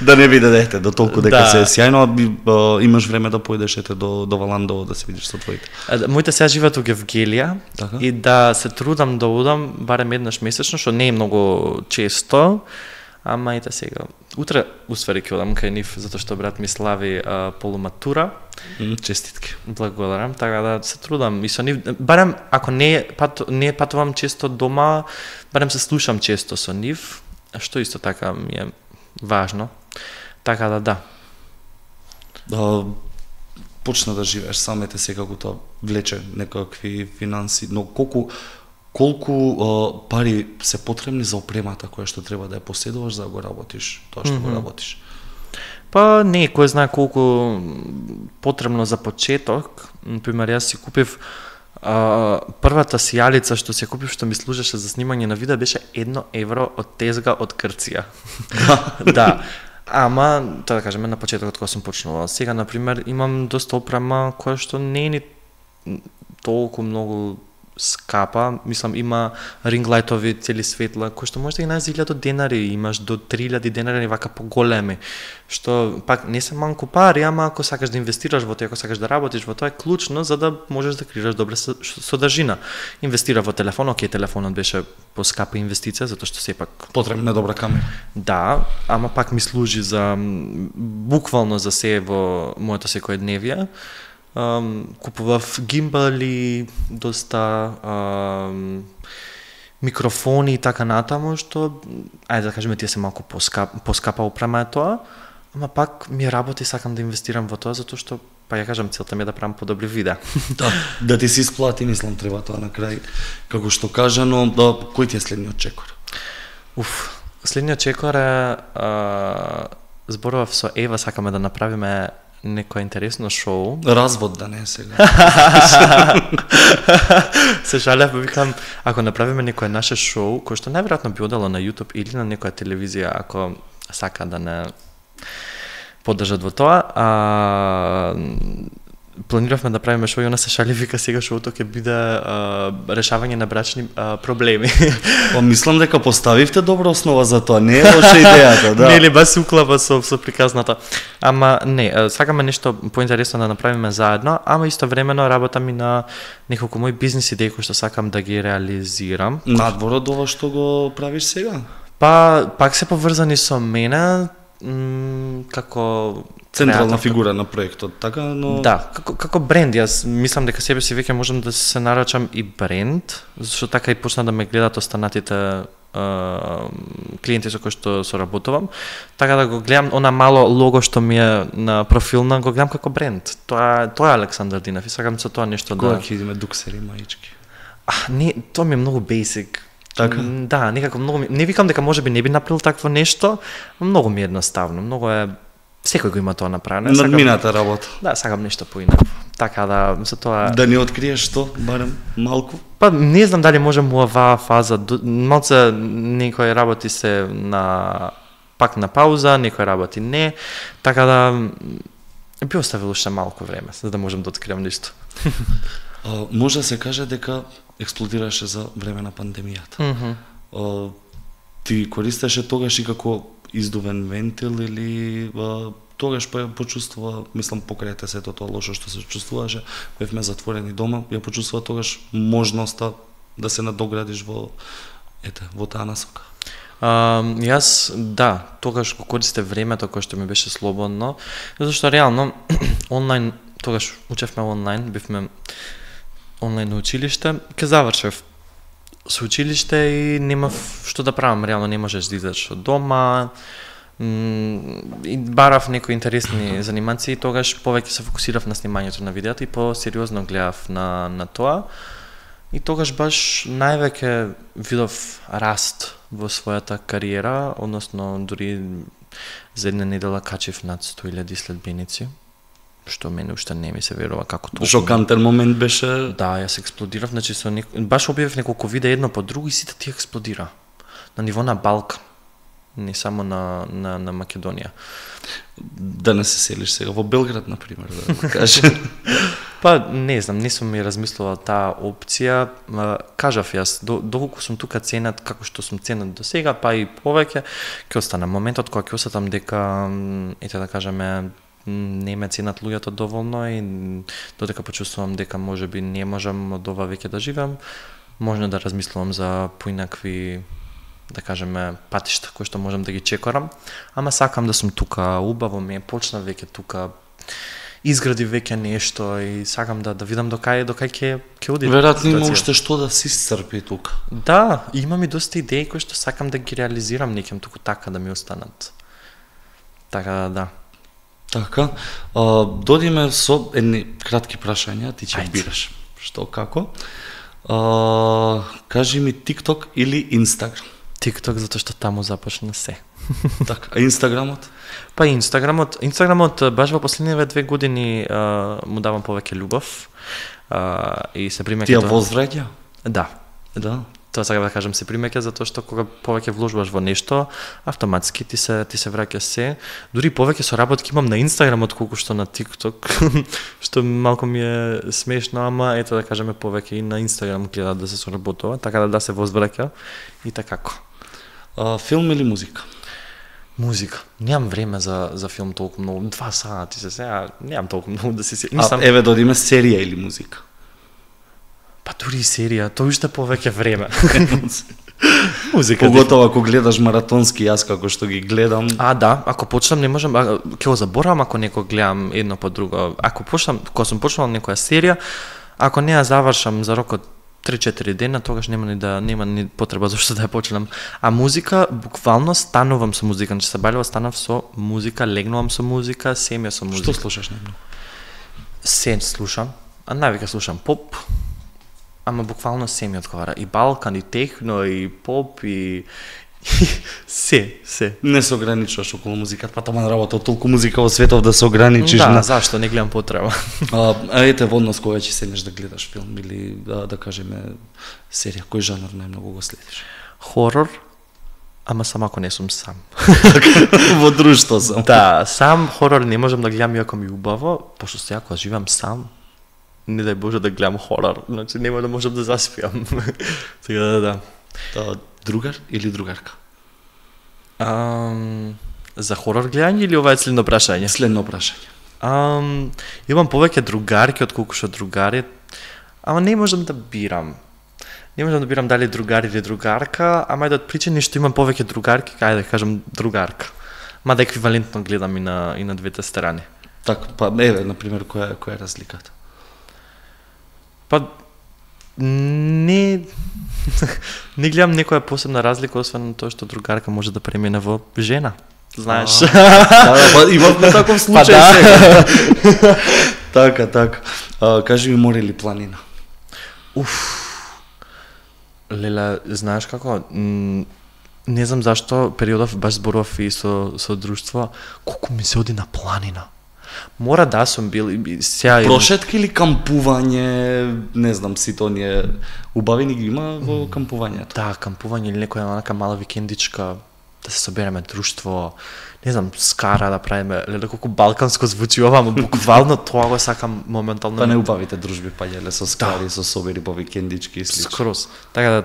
Да не биде дете до толку дека Да. се е сјајно, а, имаш време да поидеш ете до до Валандово да се видиш со твоите. Моите сега живеат во Гевгелија Така? и да се трудам да одам барем еднаш месечно, што не е многу често, ама ете сега. Утре усвари ќе одам кај нив затоа што брат ми слави а, полуматура. М, Честитки. Благодарам, така да се трудам и со нив, барем ако не пат, не патувам често дома, барем се слушам често со нив, што исто така ми е важно. Така да да. Да почна да живееш сам, ете секако тоа влече некакви финанси, но колку колку а, пари се потребни за опремата која што треба да ја поседуваш за да го работиш, тоа што mm -hmm. го работиш. Па не, кој знае колку потребно за почеток. Например, јас си купив а, првата сијалица што си купив, што ми служеше за снимање на видео, беше едно евро од тезга од Грција. Да. Ама, тоа да кажеме, на почетокот кога сум почнувал. Сега, например, имам доста опрема која што не е ни толку многу скапа, мислам има ринглајтови, цели светла, кои што може да ги најдеш за илјада денари, имаш до три илјади денари вака поголеми, што пак не се малку пари, ама ако сакаш да инвестираш во тоа, ако сакаш да работиш во тоа е клучно за да можеш да креираш добра содржина. Инвестира во телефон, окей, телефонот беше поскапа инвестиција затоа што сепак Потребна добра камера. да, ама пак ми служи за буквално за се во моето секојдневие. Um, купував гимбали, доста um, микрофони и така натаму, што, ајде да кажеме, тие се малку поскап, поскапа опрема е тоа, ама пак ми работи, сакам да инвестирам во тоа, затоа што, па ја кажам, целта ми е да правам подобри видеа. Да, да ти се исплати, мислам, треба тоа на крај, како што кажано, да, кој ти е следниот чекор? Уф, следниот чекор е, а, зборував со Ева, сакаме да направиме некој интересно шоу. Развод да не е сега. Се жалев, викам, ако направиме некој наше шоу, кој што најверојатно би одало на YouTube или на некоја телевизија, ако сака да не поддржат во тоа, а, планиравме да правиме шоу и она се шали, вика сега шоуто ќе биде а, решавање на брачни а, проблеми. Па мислам дека поставивте добра основа за тоа, не е лоша идејата, да. Нели бас се уклапа со со приказната. Ама не, сакаме нешто поинтересно да направиме заедно, ама истовремено работам и на неколку мои бизнис идеи кои што сакам да ги реализирам. Надвор од ова што го правиш сега? Па пак се поврзани со мене, м, како Централна креатор. фигура на проектот, така, но... Да, како, како бренд, јас мислам дека себе си веќе можам да се нарачам и бренд, зашто така и почна да ме гледат останатите Uh, клиенти со кои што соработувам, така да го гледам она мало лого што ми е на профилна, го гледам како бренд. Тоа тоа е Александар Динев и сакам со тоа нешто Кога да. ќе идеме дуксери маички? А, не, тоа ми е многу basic. Така? М, Да, некако многу ми... Не викам дека можеби не би направил такво нешто, многу ми е едноставно, многу е секој го има тоа направено. Сакам- Надмината работа. Да, сакам нешто поинако. Така да, за тоа... Да не откриеш што, барем малку? Па не знам дали можем во оваа фаза, до- малце некои работи се на пак на пауза, некои работи не, така да м, би оставил уште малку време за да можем да открием нешто. А, може да се каже дека експлодираше за време на пандемијата. Мгм. А, ти користеше тогаш и како издувен вентил или а, тогаш па ја почувствува, мислам покрај сето тоа лошо што се чувствуваше, бевме затворени дома, ја почувствува тогаш можноста да се надоградиш во ете, во таа насока. А, јас, да, тогаш го користе времето кое што ми беше слободно, зашто реално онлайн, тогаш учевме онлайн, бивме онлайн училиште, ке завршев со училиште и немав што да правам, реално не можеш да излезеш од дома, и барав некои интересни занимации, тогаш повеќе се фокусирав на снимањето на видеото и по-сериозно гледав на, на тоа. И тогаш баш највеќе видов раст во својата кариера, односно дури за една недела качив над сто илјади следбеници, што мене уште не ми се верува како тоа. Шокантен момент беше. Да, јас експлодирав, значи со нек... баш објавив неколку видеа едно по друго и сите ти експлодира. На ниво на Балкан, не само на, на, на Македонија. Да не се селиш сега во Белград, например, да кажеш. Па, не знам, не сум ми размислила таа опција. Кажав јас, до, доколку сум тука ценат, како што сум ценат до сега, па и повеќе, ќе остана моментот кога ќе осетам дека, ете да кажеме, не ме ценат луѓето доволно и додека почувствувам дека можеби не можам од ова веќе да живеам, можно да размислувам за поинакви, да кажеме, патишта кои што можам да ги чекорам, ама сакам да сум тука, убаво ми е, почна веќе тука, изгради веќе нешто и сакам да да видам до кај до кај ќе ќе оди. Веројатно има уште што да се исцрпи тука. Да, имам и доста идеи кои што сакам да ги реализирам, некем туку така да ми останат. Така да. Така, а, додиме со едни кратки прашања, ти ќе бираш. Што, како? А, кажи ми TikTok или Instagram? TikTok, затоа што таму започна се. Така, а Инстаграмот? Па Инстаграмот, Инстаграмот баш во последниве две години а, му давам повеќе љубов. А, и се примеќа. Ти ја возвраќа? Да. Да. Тоа сакам да кажам, се примеќа затоа што кога повеќе вложуваш во нешто, автоматски ти се ти се враќа се. Дури повеќе соработки имам на Инстаграм отколку што на TikTok, што малку ми е смешно, ама ето да кажеме повеќе и на Инстаграм гледа да се соработува, така да да се возвраќа и такако. А, филм или музика? Музика. Немам време за за филм толку многу. Два сати се сега, немам толку многу да се се. Мислам... А еве додиме серија или музика? Па дури серија, тоа уште повеќе време. Музика. Поготово ако гледаш маратонски, јас како што ги гледам. А да, ако почнам не можам, ќе го заборавам ако некој гледам едно по друго. Ако почнам, кога сум почнал некоја серија, ако не ја завршам за рокот три-четири дена, тогаш нема ни да нема ни потреба зашто да ја почнам. А музика, буквално станувам со музика, значи се балево станав со музика, легнувам со музика, семја со музика. Што слушаш најмногу? Се слушам, а највеќе слушам поп, ама буквално се ми одговара. И Балкан, и техно, и поп, и се, се. Не се ограничуваш околу музиката, па таман работа толку музика во светов да се ограничиш да, на... зашто не гледам потреба. а, а ете во однос кога ќе седнеш да гледаш филм или да, да кажеме серија, кој жанр најмногу го следиш? Хорор, ама само ако не сум сам. Во друштво сам. Да, сам хорор не можам да гледам иако ми е убаво, пошто сега кога живам сам, не дај Боже да гледам хорор, значи нема да можам да заспиам. Така да, да. Та, другар или другарка? Um, за хорор гледање или ова е следно прашање? Следно прашање. Um, имам повеќе другарки отколку што другари, ама не можам да бирам. Не можам да бирам дали другар или другарка, ама и да од причини што имам повеќе другарки, ајде да кажам другарка. Ма да еквивалентно гледам и на и на двете страни. Така, па еве на пример која која е разликата? Па не не гледам некоја посебна разлика освен тоа што другарка може да премине во жена. Знаеш. Да, па имавме таков случај па, сега. Така, така. А, кажи ми море или планина? Уф. Леле, знаеш како? Не знам зашто периодов баш зборував и со со друштво, колку ми се оди на планина. Мора да сум бил сега прошетка или кампување, не знам, сите оние убави ни ги има во кампувањето. Да, кампување или некоја онака мала викендичка, да се собереме друштво, не знам, скара да правиме, леле колку балканско звучи ова, но буквално тоа го сакам моментално. Па не убавите дружби паѓале со скари, да. Со собери по викендички и слично. Скроз. Така да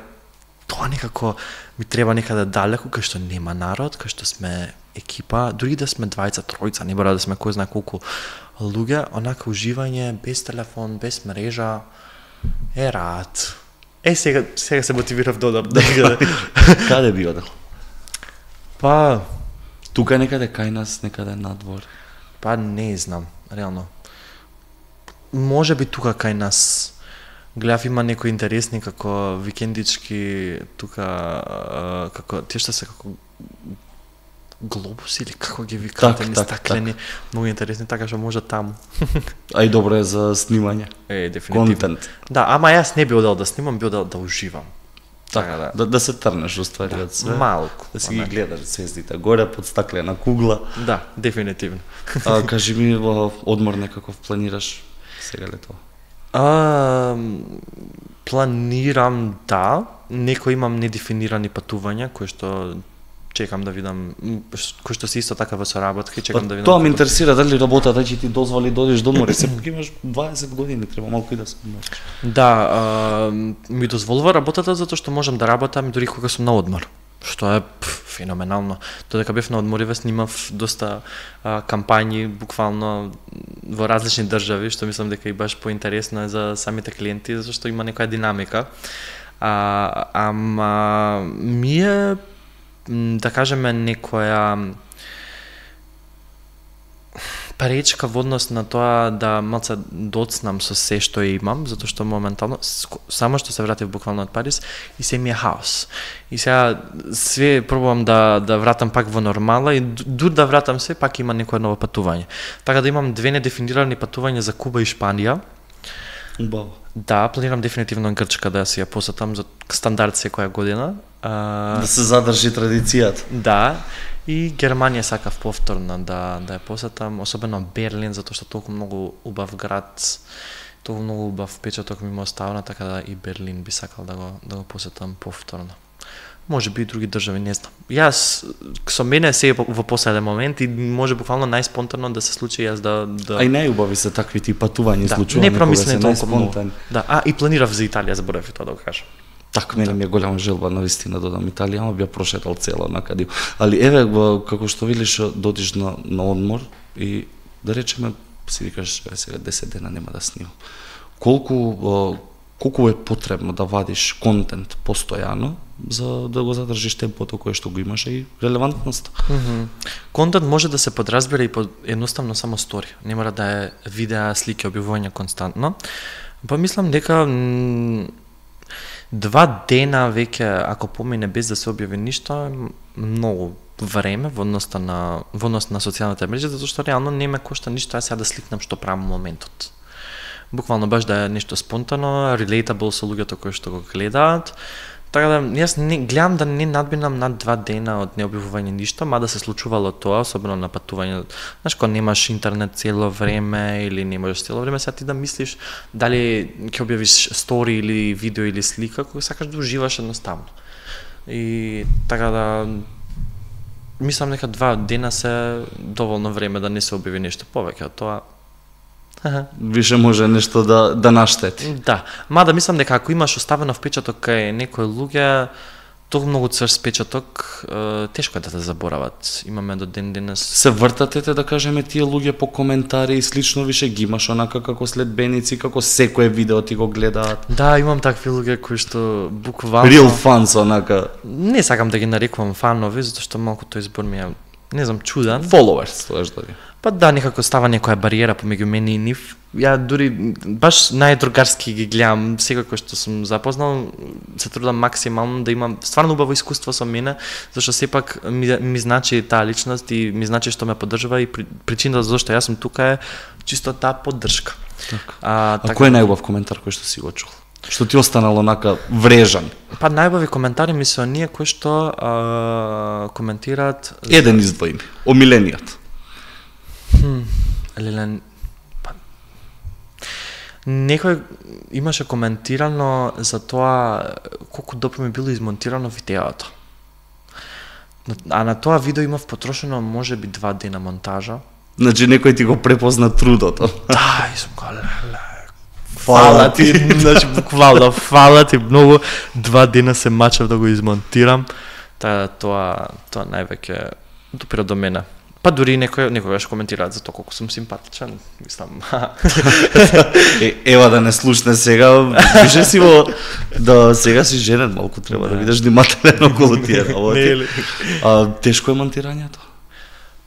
тоа некако ми треба некаде далеку, кај што нема народ, кај што сме екипа, дури да сме двајца, тројца, не мора да сме кој знае колку луѓе, онака уживање, без телефон, без мрежа, е рад. Е, сега, сега се мотивирав додам. Да, Каде би одел? па, Тука некаде кај нас, некаде надвор. па не знам, реално. Може би тука кај нас. Гледав има некои интересни како викендички тука а, како тие што се како глобуси или како ги викате, Так, ни так, стаклени, многу интересни, така што може таму. А и добро е за снимање. Е, дефинитивно. Контент. Да, ама јас не би одел да снимам, би одел да уживам. Така да. Да, да се трнеш уствари од све. Малку. Да си ги гледаш звездите горе под стаклена кугла. Да, дефинитивно. А, кажи ми, во одмор некаков планираш сега лето? А, планирам да, некои имам недефинирани патувања кои што чекам да видам, м, ш- кои што се исто така во соработка и чекам да видам. Тоа ме како- интересира, дали работата ќе ти дозволи да одиш до одмор, сепак имаш дваесет години, треба малку и да се одмориш. Да, а, ми дозволува работата затоа што можам да работам дури кога сум на одмор. Што е пф, феноменално. Додека бев на одмориве снимав доста а, кампањи, буквално во различни држави, што мислам дека и баш поинтересно е за самите клиенти, затоа што има некоја динамика. А, ама ми е, м, да кажеме, некоја пречка во однос на тоа да малце доцнам со се што имам, затоа што моментално, ско- само што се вратив буквално од Париз, и се ми е хаос. И сега све пробувам да, да вратам пак во нормала и ду- дур да вратам се, пак има некое ново патување. Така да имам две недефинирани патувања за Куба и Шпанија. Убаво. Да, планирам дефинитивно Грчка да си ја посетам за стандард секоја година. А, Да се задржи традицијата. Да, и Германија сакав повторно да да ја посетам, особено Берлин, затоа што толку многу убав град, толку многу убав впечаток ми ме оставна, така да и Берлин би сакал да го да го посетам повторно. Може би и други држави, не знам. Јас со мене се во последен момент и може буквално најспонтано да се случи јас да да А и најубави се такви ти патувања да, случувања. не кога промислени се толку многу. најспонтани. Да, а и планирав за Италија, заборавив и тоа да го кажам. Так, мене ми е голема желба навистина да одам Италија, ама би ја прошетал цело накаде. Али еве, во- како што велиш, додиш на, на одмор и да речеме, си викаш, еве сега десет дена нема да снимам. Колку, о, колку е потребно да вадиш контент постојано за да го задржиш темпото кое што го имаш и релевантноста? Мгм. Контент може да се подразбира и под едноставно само стори. Не мора да е видеа, слики, објавување константно. Па мислам дека м, два дена веќе ако помине без да се објави ништо, е многу време во однос на во однос на социјалните мрежи, затоа што реално не ме кошта ништо ја сега да сликнам што правам во моментот. Буквално баш да е нешто спонтано, relatable со луѓето кои што го гледаат. Така да јас не гледам да не надминам над два дена од необјавување ништо, мада се случувало тоа, особено на патување. Знаеш, кога немаш интернет цело време или не можеш цело време, сега ти да мислиш дали ќе објавиш стори или видео или слика, кога сакаш да уживаш едноставно. И така да мислам дека два дена се доволно време да не се објави нешто повеќе од тоа. Више може нешто да да наштети. Да, мада мислам дека ако имаш оставено впечаток кај некои луѓе, толку многу црст впечаток, е, тешко е да те заборават. Имаме до ден денес. Се вртатете, да кажеме, тие луѓе по коментари и слично, више ги имаш онака како следбеници, како секое видео ти го гледаат. Да, имам такви луѓе кои што буквално Real fans, онака, не сакам да ги нарекувам фанови, затоа што малку тој збор ми е, не знам, чуден. followers, тоа да ги. Па да, некако става некоја бариера помеѓу мене и нив. Ја дури баш најдругарски ги гледам, секој кој што сум запознал, се трудам максимално да имам стварно убаво искуство со мене, зашто сепак ми, ми значи таа личност и ми значи што ме поддржува и при, причината зашто јас сум тука е чисто таа поддршка. Така. А, А кој е најубав коментар кој што си го чул? Што ти останало онака врежан? Па најубави коментари ми се оние кои што а, коментираат Еден издвои ми, омилениот. Леле, па, некој имаше коментирано за тоа колку добро ми било измонтирано видеото. А на тоа видео имав потрошено може би два дена монтажа. Значи некој ти го препозна трудото. Да, и сум као, леле, фала ти, значи буквално фала ти многу, два дена се мачав да го измонтирам, та тоа тоа највеќе допира до мене. Па дури некој некогаш коментираат за тоа колку сум симпатичен, мислам. е, ева да не слушне сега, више си во да сега си женен, малку треба да видиш внимателно околу тие работи. А тешко е монтирањето?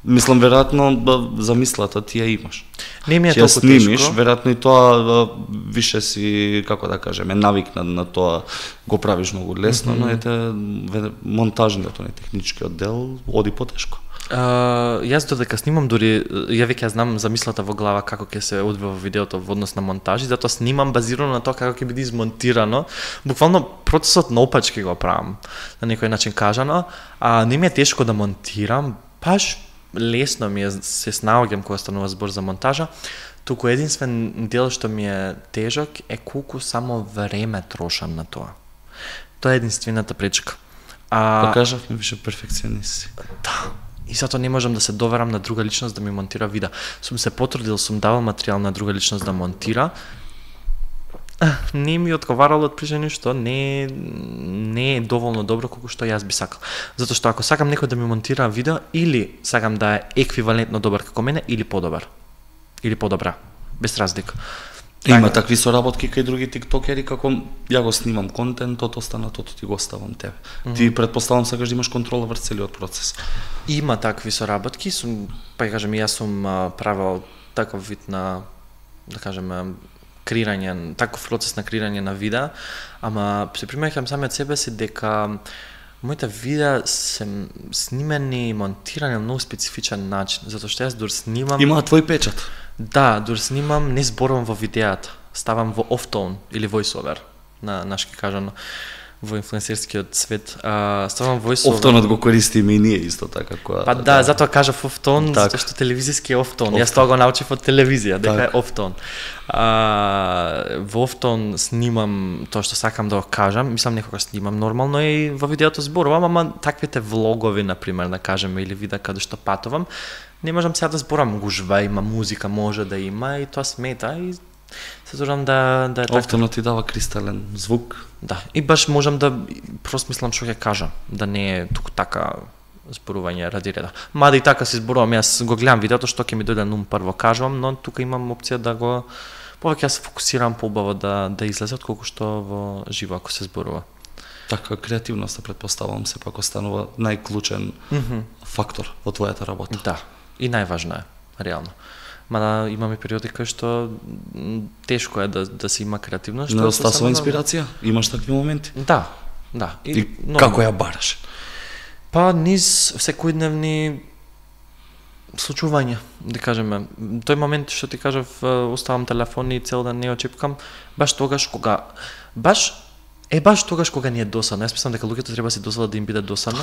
Мислам, веројатно замислата ти ја имаш. Не ми е толку тешко. Ќе снимиш, веројатно и тоа више си, како да кажеме, навикнат на тоа, го правиш многу лесно, mm -hmm. но ете монтажното, не техничкиот дел оди потешко. Uh, јас додека снимам, дури ја веќе знам замислата во глава како ќе се одвива видеото во однос на монтажи, затоа снимам базирано на тоа како ќе биде измонтирано. Буквално процесот наопачки го правам, на некој начин кажано, а не ми е тешко да монтирам, баш лесно ми е, се снаоѓам кога станува збор за монтажа. Туку единствен дел што ми е тежок е колку само време трошам на тоа. Тоа е единствената пречка. А Па кажав ми више перфекционист си. Да. И затоа не можам да се доверам на друга личност да ми монтира видео. Сум се потрудил, сум давал материјал на друга личност да монтира. Не ми одговарало од причини што не не е доволно добро колку што јас би сакал. Затоа што ако сакам некој да ми монтира видео, или сакам да е еквивалентно добар како мене, или подобар. Или подобра, без разлика. Има такви соработки кај други тиктокери, како ја го снимам контентот, останатото ти го оставам тебе. Mm -hmm. Ти претпоставам сакаш да имаш контрола врз целиот процес. Има такви соработки, сум, па ја кажем, јас сум правил таков вид на, да кажем, креирање, таков процес на креирање на видеа, ама се примеќам самиот себе си дека моите видеа се снимени и монтирани на многу специфичен начин, затоа што јас дур снимам... Има твој печат. Да, дур снимам, не зборувам во видеата, ставам во off-tone или voice-over, на нашки кажано, во инфлуенсерскиот свет. А, ставам voice-over. Off-tone го користиме и ние исто така. Која, па да, да, затоа кажав off-tone, так. Затоа што телевизиски е off-tone. Off Јас тоа го научив од телевизија, дека так. Е off-tone. А, во off-tone снимам тоа што сакам да го кажам, мислам некогаш снимам нормално и во видеото зборувам, ама таквите влогови, например, да кажеме, или видеа каде што патувам, не можам сега да зборам гужва, има музика, може да има и тоа смета и се трудам да да е така. Офтено ти дава кристален звук. Да, и баш можам да просто мислам што ќе кажам, да не е туку така зборување ради реда. Мада и така се зборувам, јас го гледам видеото што ќе ми дојде на ум прво кажувам, но тука имам опција да го повеќе се фокусирам поубаво да да излезе отколку што во живо ако се зборува. Така, креативноста предпоставувам се пак останува најклучен mm -hmm. фактор во твојата работа. Да, и најважно е, реално. Мада имаме периоди кај што тешко е да да се има креативност, што недостасува инспирација. Имаш такви моменти? Да, да. И, и но, како ја бараш? Па низ секојдневни случувања, да кажеме. Тој момент што ти кажав, оставам телефон и цел ден не го чепкам, баш тогаш кога баш Е, баш тогаш кога ни е досадно, јас мислам дека луѓето треба се досадат да им биде досадно.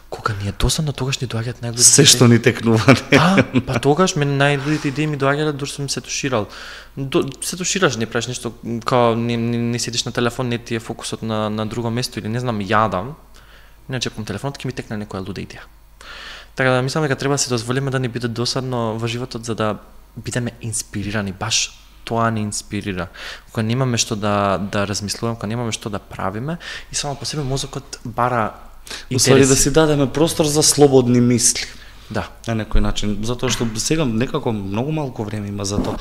Кога ни е досадно, тогаш ни доаѓаат најлудите. Се што ни текнува. А, па тогаш мене најлудите идеи ми доаѓале дур сум се туширал. До, се тушираш, не правиш нешто, као не, не, не седиш на телефон, не ти е фокусот на на друго место или не знам, јадам. Не чепкам телефонот, ќе ми текне некоја луда идеја. Така да мислам дека треба да се дозволиме да ни биде досадно во животот за да бидеме инспирирани, баш тоа не инспирира. Кога немаме што да да размислуваме, кога немаме што да правиме и само по себе мозокот бара интереси. Усвари да си дадеме простор за слободни мисли. Да. На некој начин, затоа што сега некако многу малку време има за тоа.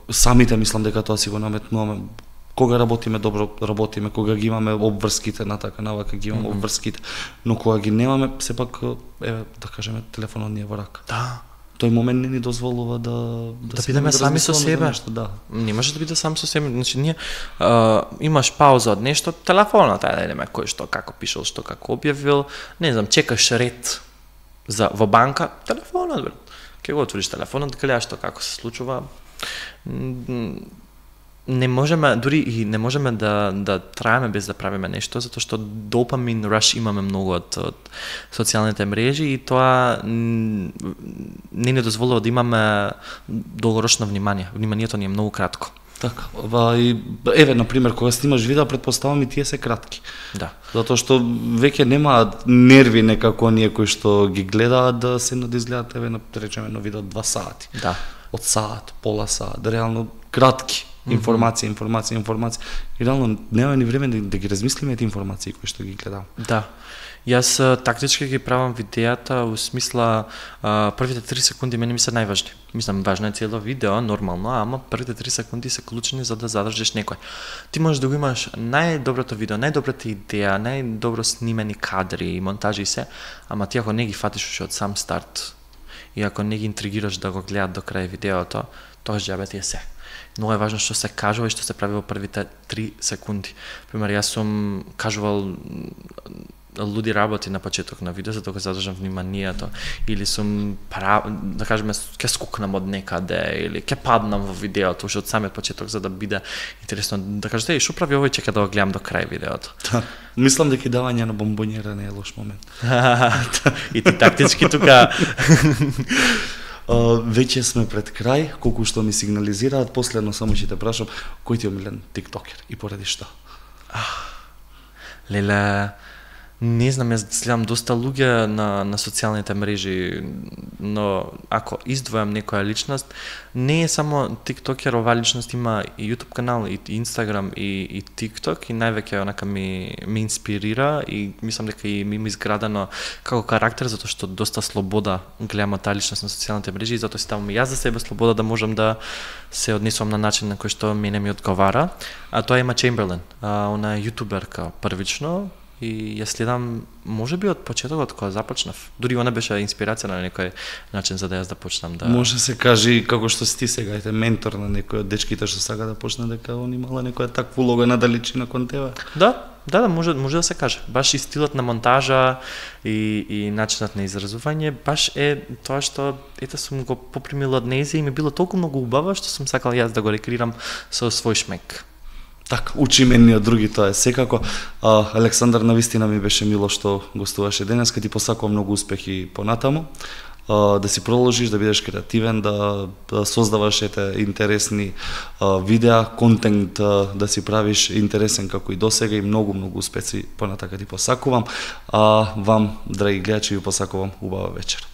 Самите мислам дека тоа си го наметнуваме. Кога работиме добро, работиме, кога ги имаме обврските на така навака ги имаме mm -hmm. обврските, но кога ги немаме сепак еве да кажеме телефонот ни е во рака. Да. Тој момент не ни дозволува да да, да бидеме сами со себе. Нешто, да. Не може да биде сам со себе. Значи ние а, имаш пауза од нешто, телефонот ајде да идеме кој што како пишал, што како објавил, не знам, чекаш ред за во банка, телефонот бе. Ќе го отвориш телефонот, да гледаш што како се случува. Не можеме, дури и не можеме да да траеме без да правиме нешто, затоа што допамин rush имаме многу од, од социјалните мрежи и тоа не ни дозволува да имаме долгорочно внимание. Вниманието ни е многу кратко. Така, и еве на пример кога снимаш видео, претпоставам и тие се кратки. Да. Затоа што веќе немаат нерви некако оние кои што ги гледаат да се да изгледаат еве на речеме на видео два сати. Да. Од саат, пола саат, реално кратки. Информација, информација, информација. И реално нема ни време да, да ги размислиме тие информации кои што ги гледам. Да. Јас а, тактички ги правам видеата у смисла а, првите три секунди мене ми се најважни. Мислам, важно е цело видео, нормално, ама првите три секунди се клучни за да задржиш некој. Ти можеш да го имаш најдоброто видео, најдобрата идеја, најдобро снимени кадри, монтажи и се, ама ти ако не ги фатиш уште од сам старт и ако не ги интригираш да го гледат до крај видеото, тогаш џабе ти е се. Много е важно што се кажува и што се прави во првите три секунди. Пример, јас сум кажувал луди работи на почеток на видео за да го задржам вниманието, или сум прав, да кажеме ќе скукнам од некаде или ќе паднам во видеото уште од самиот почеток за да биде интересно, да кажете и што прави овој, чека да го гледам до крај видеото. Да. Мислам дека давање на бомбонјера не е лош момент. И ти тактички тука Uh, веќе сме пред крај, колку што ми сигнализираат, последно само ќе те прашам, кој ти е омилен тиктокер и поради што? Леле, не знам, јас следам доста луѓе на, на социјалните мрежи, но ако издвојам некоја личност, не е само тиктокер, ова личност има и YouTube канал, и Instagram, и, и TikTok, и највеќе онака ми, ми инспирира и мислам дека и ми има изградено како карактер, затоа што доста слобода гледам таа личност на социјалните мрежи и затоа си ставам и јас за себе слобода да можам да се однесувам на начин на кој што мене ми одговара. А тоа има Чемберлен, она е јутуберка првично, и ја следам можеби од почетокот кога започнав. Дури она беше инспирација на некој начин за да јас да почнам да. Може се каже како што си ти сега, ете ментор на некој од дечките што сака да почне, дека он имала некоја таква улога на далечина кон тебе. Да, да, да, може може да се каже. Баш и стилот на монтажа и и начинот на изразување баш е тоа што ете сум го попримил од нејзе и ми било толку многу убаво што сум сакал јас да го рекреирам со свој шмек. Така, учиме ни од други, тоа е секако. А, Александар, навистина ми беше мило што гостуваше денес, ти посакувам многу успехи понатаму. А, да си продолжиш, да бидеш креативен, да, да создаваш ете интересни а, видеа, контент а, да си правиш интересен како и досега и многу многу успеси понатака ти посакувам. А вам, драги гледачи, ви посакувам убава вечер.